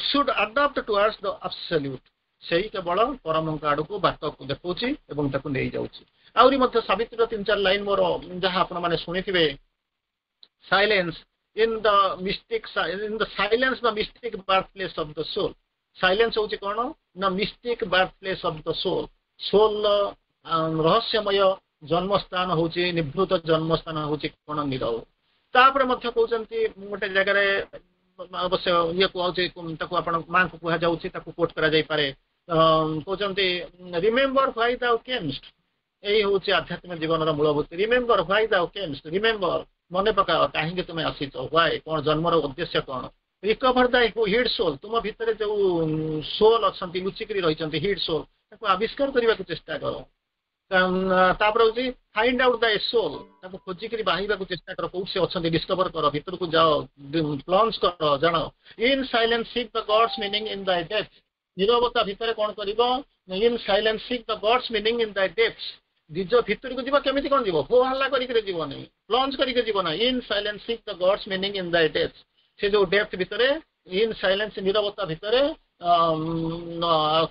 should adopt towards the absolute. ସେଇ କେବଳ ପରମଙ୍କ ଆଡକୁ ବାଟ ଦେଖାଉଛି ଏବଂ ତାକୁ ନେଇଯାଉଛି। ଆହୁରି ମଧ୍ୟ ସାବିତ୍ରୀର ତିନି ଚାରି ଲାଇନ ମୋର, ଯାହା ଆପଣମାନେ ଶୁଣିଥିବେ, silence in the mystic, in the silence, the mystic birth place of the soul. Silence ହଉଛି କଣ ନା mystic birth place of the soul. Solar ରହସ୍ୟମୟ ଜନ୍ମସ୍ଥାନ ହଉଛି, ନିଭୃତ ଜନ୍ମସ୍ଥାନ ହଉଛି କଣ? ନିରବ। ତାପରେ ମଧ୍ୟ କହୁଛନ୍ତି ଗୋଟେ ଜାଗାରେ, ଅବଶ୍ୟ ଇଏ କୁହାଉଛି, ତାକୁ ଆପଣ ମାଙ୍କୁ କୁହାଯାଉଛି, ତାକୁ କୋଟ୍ କରାଯାଇପାରେ। କହୁଛନ୍ତି, "Remember why thou camest." ଏଇ ହଉଛି ଆଧ୍ୟାତ୍ମିକ ଜୀବନର ମୂଳଭୂତି। "Remember why thou camest." Remember, ମନେ ପକାଅ କାହିଁକି ତୁମେ ଆସିଛ। Why କଣ? ଜନ୍ମର ଉଦ୍ଦେଶ୍ୟ କଣ? "Recover thy hid soul." ତୁମ ଭିତରେ ଯୋଉ ସୋଲ୍ ଅଛନ୍ତି, ଲୁଚିକିରି ରହିଛନ୍ତି, ହିଡ୍ ସୋଲ୍, ତାକୁ ଆବିଷ୍କାର କରିବାକୁ ଚେଷ୍ଟା କର। ତାପରେ ହଉଛି "Find out thy soul." ତାକୁ ଖୋଜିକିରି ବାହିବାକୁ ଚେଷ୍ଟା କର, କୋଉଠି ସେ ଅଛନ୍ତି ଡିସ୍କଭର କର, ଭିତରକୁ ଯାଅ, ପ୍ଲଞ୍ଜ କର, ଜାଣ। "In silence seek the God's meaning in thy depth." ନିରବତା ଭିତରେ କଣ କରିବ? "In silence seek the God's meaning in thy depth." ନିଜ ଭିତରକୁ ଯିବ। କେମିତି କଣ ଯିବ? ହୋ ହାଲ୍ଲା କରିକିରି ଯିବନି, ପ୍ଲଞ୍ଜ କରିକି ଯିବ ନା। "In silence seek the God's meaning in thy depth." ସେ ଯୋଉ ଡେପ୍ଥ ଭିତରେ, ଇନ୍ ସାଇଲେନ୍ସ, ନିରବତା ଭିତରେ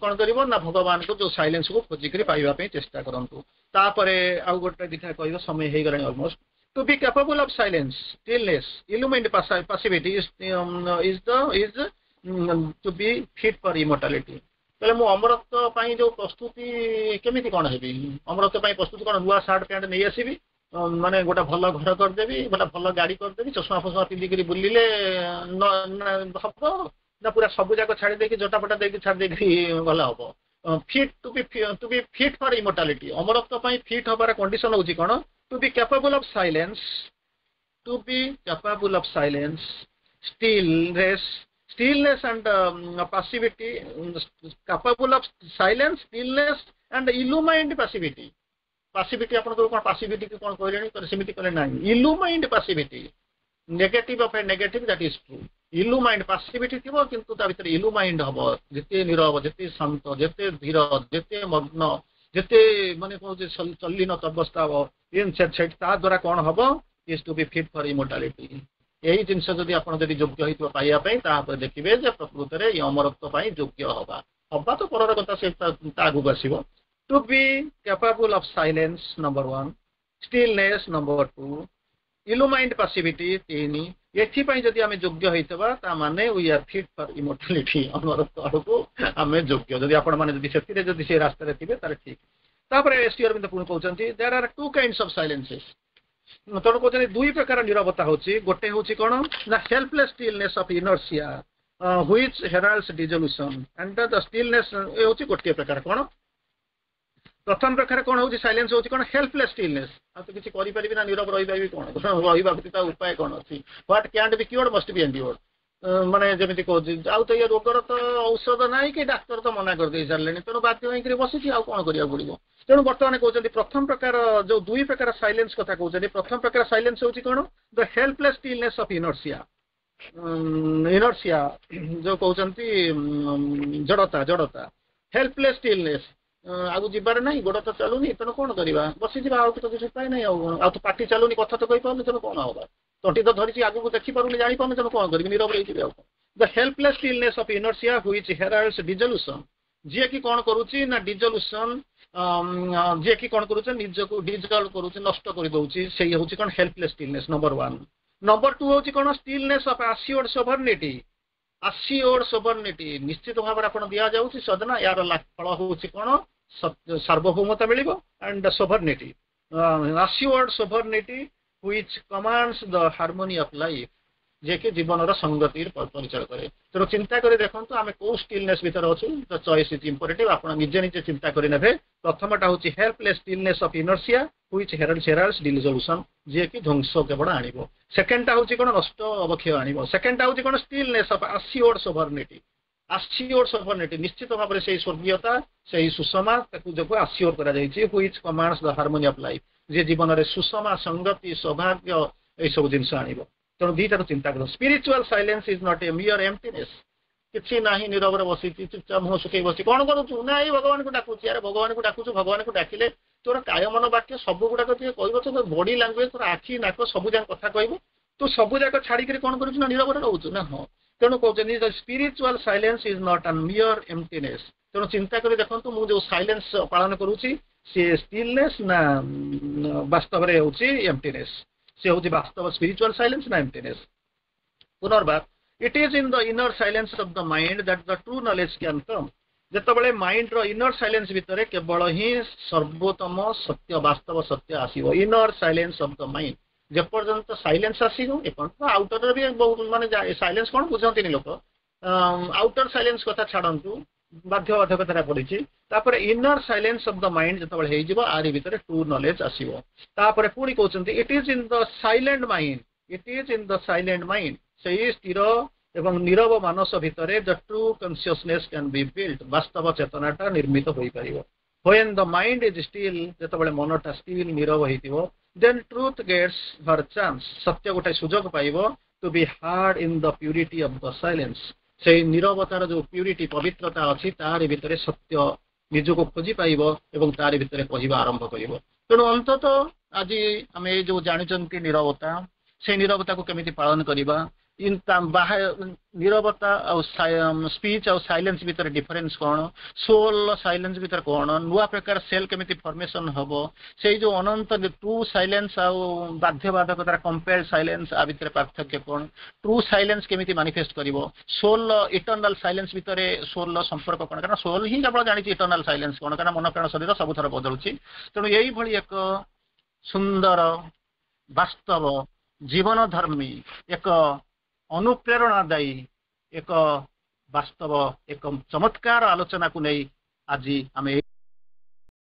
କଣ କରିବ ନା ଭଗବାନଙ୍କୁ ଯୋଉ ସାଇଲେନ୍ସକୁ ଖୋଜିକିରି ପାଇବା ପାଇଁ ଚେଷ୍ଟା କରନ୍ତୁ। ତାପରେ ଆଉ ଗୋଟେ ଦିଟା କହିବ, ସମୟ ହେଇଗଲାଣି almost. To be capable of silence, stillness, illumined passivity is the is to be fit for immortality. ତାହେଲେ ମୁଁ ଅମରତ୍ୱ ପାଇଁ ଯୋଉ ପ୍ରସ୍ତୁତି, କେମିତି କଣ ହେବି? ଅମରତ୍ୱ ପାଇଁ ପ୍ରସ୍ତୁତି କଣ? ନୂଆ ସାର୍ଟ ପ୍ୟାଣ୍ଟ ନେଇ ଆସିବି, ମାନେ ଗୋଟେ ଭଲ ଘର କରିଦେବି, ଗୋଟେ ଭଲ ଗାଡି କରିଦେବି, ଚଷମା ଫସମା ପିନ୍ଧିକିରି ବୁଲିଲେ ହବ ନା ପୁରା ସବୁ ଯାକ ଛାଡି ଦେଇକି, ଜଟା ଫଟା ଦେଇକି ଛାଡି ଦେଇକି ଗଲେ ହବ? Fit to be fit for immortality, ଅମରତ୍ୱ ପାଇଁ ଫିଟ୍ ହବାର କଣ୍ଡିସନ ହଉଛି କଣ? To be capable of silence, to be capable of silence, stillness and passivity, capable of silence, stillness and illumined passivity. Passivity ଆପଣଙ୍କର କଣ? Passivity କି କଣ କହିଲେଣି, ସେମିତି କହିଲେ ନାହିଁ। Illumined passivity, negative of a negative, that is true. Illumined passivity ଥିବ, କିନ୍ତୁ ତା ଭିତରେ illumined ହବ। ଯେତେ ନିରବ, ଯେତେ ଶାନ୍ତ, ଯେତେ ଧୀର, ଯେତେ ମଗ୍ନ, ଯେତେ ମାନେ କହୁଛି ତଲ୍ଲୀନ ଅବସ୍ଥା ହବ, ସେଠି ତା ଦ୍ୱାରା କଣ ହବ? Is to be fit for immortality. ଏଇ ଜିନିଷ ଯଦି ଆପଣ ଯଦି ଯୋଗ୍ୟ ହେଇଥିବ ପାଇବା ପାଇଁ, ତାପରେ ଦେଖିବେ ଯେ ପ୍ରକୃତରେ ଏଇ ଅମରତ୍ୱ ପାଇଁ ଯୋଗ୍ୟ ହବା, ହବା ତ ପରର କଥା, ସେ ତା ଆଗକୁ ଆସିବ। To be capable of silence, number one, stillness, number two, illumined passivity, ତିନି। ଏଥିପାଇଁ ଯଦି ଆମେ ଯୋଗ୍ୟ ହେଇଥିବା, ତା ମାନେ we are fit for immortality. ଅମରତ୍ୱ ଆଡ଼କୁ ଆମେ ଯୋଗ୍ୟ। ଯଦି ଆପଣମାନେ ଯଦି ସେଥିରେ ଯଦି ସେ ରାସ୍ତାରେ ଥିବେ, ତାହେଲେ ଠିକ। ତାପରେ ଶ୍ରୀ ଅରବିନ୍ଦ ପୁଣି କହୁଛନ୍ତି, there are two kinds of silences. ତେଣୁ କହୁଛନ୍ତି, ଦୁଇ ପ୍ରକାର ନିରବତା ହଉଛି। ଗୋଟେ ହଉଛି କଣ ନା helpless stillness of inertia which heralds dissolution and the stillness. ଏ ହଉଛି ଗୋଟିଏ ପ୍ରକାର। କଣ ପ୍ରଥମ ପ୍ରକାର କଣ ହଉଛି? ସାଇଲେନ୍ସ ହଉଛି କଣ? ହେଲ୍ପଲେସ୍ ଷ୍ଟିଲନେସ୍। ଆଉ ତ କିଛି କରିପାରିବି ନା ନିରବ ରହିପାରିବି, କଣ ରହିବା ବ୍ୟତୀତ ଉପାୟ କଣ ଅଛି? What cantt B କ୍ୟୁର୍ଡ ମଷ୍ଟ ବି ଏଣ୍ଡିଓର୍ଡ। ମାନେ ଯେମିତି କହୁଛି, ଆଉ ତ ଇଏ ରୋଗର ତ ଔଷଧ ନାହିଁ କି ଡାକ୍ତର ତ ମନା କରିଦେଇ ସାରିଲେଣି, ତେଣୁ ବାଧ୍ୟ ହେଇକିରି ବସିଛି, ଆଉ କଣ କରିବାକୁ ପଡିବ? ତେଣୁ ବର୍ତ୍ତମାନ କହୁଛନ୍ତି, ପ୍ରଥମ ପ୍ରକାର ଯୋଉ ଦୁଇ ପ୍ରକାର ସାଇଲେନ୍ସ କଥା କହୁଛନ୍ତି, ପ୍ରଥମ ପ୍ରକାର ସାଇଲେନ୍ସ ହଉଛି କଣ? The helpless stillness of inertia. Inertia ଯୋଉ କହୁଛନ୍ତି, ଜଡତା, ଜଡତା, ହେଲ୍ପଲେସ୍ ଷ୍ଟିଲନେସ୍। ଆଉ ଯିବାର ନାହିଁ, ଗୋଡ ତ ଚାଲୁନି, ତେଣୁ କଣ କରିବା? ବସିଯିବା, ଆଉ ତ କିଛି ଉପାୟ ନାହିଁ। ଆଉ ଆଉ ତ ପାଟି ଚାଲୁନି, କଥା ତ କହିପାରୁନି, ତେଣୁ କଣ ହବା? ତଣ୍ଟି ତ ଧରିଛି, ଆଗକୁ ଦେଖିପାରୁନି, ଜାଣିପାରୁନି, ତେଣୁ କଣ କରିବି? ନିରବ ରହିଯିବି ଆଉ କଣ? The helpless stillness of inertia which heralds dissolution. ଯିଏକି କଣ କରୁଛି ନା ଡିଜଲ୍ୟୁସନ, ଯିଏକି କଣ କରୁଛି, ନିଜକୁ ଡିଜଲ୍ଭ କରୁଛି, ନଷ୍ଟ କରିଦଉଛି, ସେଇ ହଉଛି କଣ? Helpless stillness, number one. Number two ହଉଛି କଣ? Stillness of assured sovereignty. Assured sovereignty, ନିଶ୍ଚିତ ଭାବରେ ଆପଣ ଦିଆଯାଉଛି ସଦନା, ଏହାର ଫଳ ହଉଛି କଣ? ସାର୍ବଭୌମତା ମିଳିବ and ସୋଭର୍ନିଟି। Assured sovereignty which commands the harmony of life, ଯିଏକି ଜୀବନର ସଙ୍ଗତି ପରିଚୟ କରେ। ତେଣୁ ଚିନ୍ତା କରି ଦେଖନ୍ତୁ, ଆମେ କୋଉ ଷ୍ଟିଲନେସ୍ ଭିତରେ ଅଛୁ। The choice is imperative. ଆପଣ ନିଜେ ନିଜେ ଚିନ୍ତା କରିନେବେ। ପ୍ରଥମଟା ହେଉଛି helpless stillness of inertia which heralds dissolution, ଯିଏକି ଧ୍ୱଂସ କେବଳ ଆଣିବ। ସେକେଣ୍ଡଟା ହେଉଛି କ'ଣ? ନଷ୍ଟ, ଅବକ୍ଷୟ ଆଣିବ। ସେକେଣ୍ଡଟା ହେଉଛି କ'ଣ? Stillness of assured sovereignty. Assured sovereignty, ନିଶ୍ଚିତ ଭାବରେ ସେଇ ସ୍ୱର୍ଗୀୟତା, ସେଇ ସୁଷମା, ତାକୁ ଯୋଗୁଁ ଆସିଓର କରାଯାଇଛି, which commands the harmony of life, ଯିଏ ଜୀବନରେ ସୁଷମା, ସଙ୍ଗତି, ସୌଭାଗ୍ୟ, ଏଇସବୁ ଜିନିଷ ଆଣିବ। ତେଣୁ ଦିଟାକୁ ଚିନ୍ତା କର। Spiritual silence is not a mere emptiness. କିଛି ନାହିଁ, ନିରବରେ ବସିଛି, ଚୁପଚାପ ମୁହଁ ଶୁଖେଇ ବସିଛି। କଣ କରୁଛୁ? ନା, ଏଇ ଭଗବାନଙ୍କୁ ଡାକୁଛି। ଆରେ, ଭଗବାନଙ୍କୁ ଡାକୁଛୁ, ଭଗବାନଙ୍କୁ ଡାକିଲେ ତୋର କାୟ, ମନ, ବାକ୍ୟ ସବୁ ଗୁଡାକ ଟିକେ କହିବ। ତୋ ବଡି ଲାଙ୍ଗୁଏଜ, ତୋର ଆଖି, ନାକ ସବୁ ଯାକ କଥା କହିବ। ତୁ ସବୁ ଯାକ ଛାଡିକିରି କଣ କରୁଛୁ? ନା, ନିରବରେ ରହୁଛୁ ନା? ହଁ। ତେଣୁ କହୁଛନ୍ତି, spiritual silence is not an mere emptiness. ତେଣୁ ଚିନ୍ତା କରି ଦେଖନ୍ତୁ, ମୁଁ ଯୋଉ ସାଇଲେନ୍ସ ପାଳନ କରୁଛି, ସିଏ ଷ୍ଟିଲନେସ୍ ନା ବାସ୍ତବରେ ହେଉଛି ଏମ୍ପଟିନେସ୍? ସେ ହେଉଛି ବାସ୍ତବ ସ୍ପିରିଚୁଆଲ ସାଇଲେନ୍ସ ନା ଏମ୍ପଟିନେସ୍? ପୁନର୍ବାର, it is in the inner silence of the mind that the true knowledge can come. ଯେତେବେଳେ ମାଇଣ୍ଡର ଇନର ସାଇଲେନ୍ସ ଭିତରେ କେବଳ ହିଁ ସର୍ବୋତ୍ତମ ସତ୍ୟ, ବାସ୍ତବ ସତ୍ୟ ଆସିବ। Inner silence of the mind. ଯେପର୍ଯ୍ୟନ୍ତ ସାଇଲେନ୍ସ ଆସିବ, ଏପର୍ଯ୍ୟନ୍ତ ଆଉଟରରେ ବି ବହୁତ ମାନେ ସାଇଲେନ୍ସ କଣ ବୁଝନ୍ତିନି ଲୋକ। ଆଉଟର ସାଇଲେନ୍ସ କଥା ଛାଡନ୍ତୁ, ବାଧ୍ୟ ବାଧକତାରେ ପଡିଛି। ତାପରେ inner silence of the mind ଯେତେବେଳେ ହେଇଯିବ, ଆରି ଭିତରେ ଟ୍ରୁ ନଲେଜ ଆସିବ। ତାପରେ ପୁଣି କହୁଛନ୍ତି, it is in the silent mind, it is in the silent mind, ସେଇ ସ୍ଥିର ଏବଂ ନିରବ ମାନସ ଭିତରେ, the true consciousness can be built, ବାସ୍ତବ ଚେତନାଟା ନିର୍ମିତ ହୋଇପାରିବ। When the mind is still, ଯେତେବେଳେ ମନଟା ଷ୍ଟିଲ୍, ନିରବ ହେଇଥିବ, then truth gets her chance, ସତ୍ୟ ଗୋଟେ ସୁଯୋଗ ପାଇବ, to be heard in the purity of the silence. ସେଇ ନିରବତାର ଯୋଉ ପ୍ୟୁରିଟି, ପବିତ୍ରତା ଅଛି, ତାରି ଭିତରେ ସତ୍ୟ ନିଜକୁ ଖୋଜି ପାଇବ ଏବଂ ତାରି ଭିତରେ କହିବା ଆରମ୍ଭ କରିବ। ତେଣୁ ଅନ୍ତତଃ ଆଜି ଆମେ ଏଇ ଯୋଉ ଜାଣିଛନ୍ତି ନିରବତା, ସେଇ ନିରବତାକୁ କେମିତି ପାଳନ କରିବା, ନିରବତା ଆଉ ସ୍ପିଚ୍ ଆଉ ସାଇଲେନ୍ସ ଭିତରେ ଡିଫରେନ୍ସ କ'ଣ, ସୋଲ ସାଇଲେନ୍ସ ଭିତରେ କ'ଣ, ନୂଆ ପ୍ରକାର ସେଲ୍ କେମିତି ଫର୍ମେସନ ହବ, ସେଇ ଯୋଉ ଅନନ୍ତ ଟ୍ରୁ ସାଇଲେନ୍ସ ଆଉ ବାଧ୍ୟବାଧକତାର କମ୍ପେଲ୍ଡ ସାଇଲେନ୍ସ, ଆ ଭିତରେ ପାର୍ଥକ୍ୟ କ'ଣ, ଟ୍ରୁ ସାଇଲେନ୍ସ କେମିତି ମାନିଫେଷ୍ଟ କରିବ, ସୋଲର ଇଟର୍ନାଲ ସାଇଲେନ୍ସ ଭିତରେ ସୋଲର ସମ୍ପର୍କ କ'ଣ, କାରଣ ସୋଲ ହିଁ କେବଳ ଜାଣିଛି ଇଟର୍ନାଲ ସାଇଲେନ୍ସ କ'ଣ, କାରଣ ମନ, ପ୍ରାଣ, ଶରୀର ସବୁଥର ବଦଳୁଛି। ତେଣୁ ଏଇଭଳି ଏକ ସୁନ୍ଦର, ବାସ୍ତବ, ଜୀବନଧର୍ମୀ, ଏକ ଅନୁପ୍ରେରଣାଦାୟୀ, ଏକ ବାସ୍ତବ, ଏକ ଚମତ୍କାର ଆଲୋଚନାକୁ ନେଇ ଆଜି ଆମେ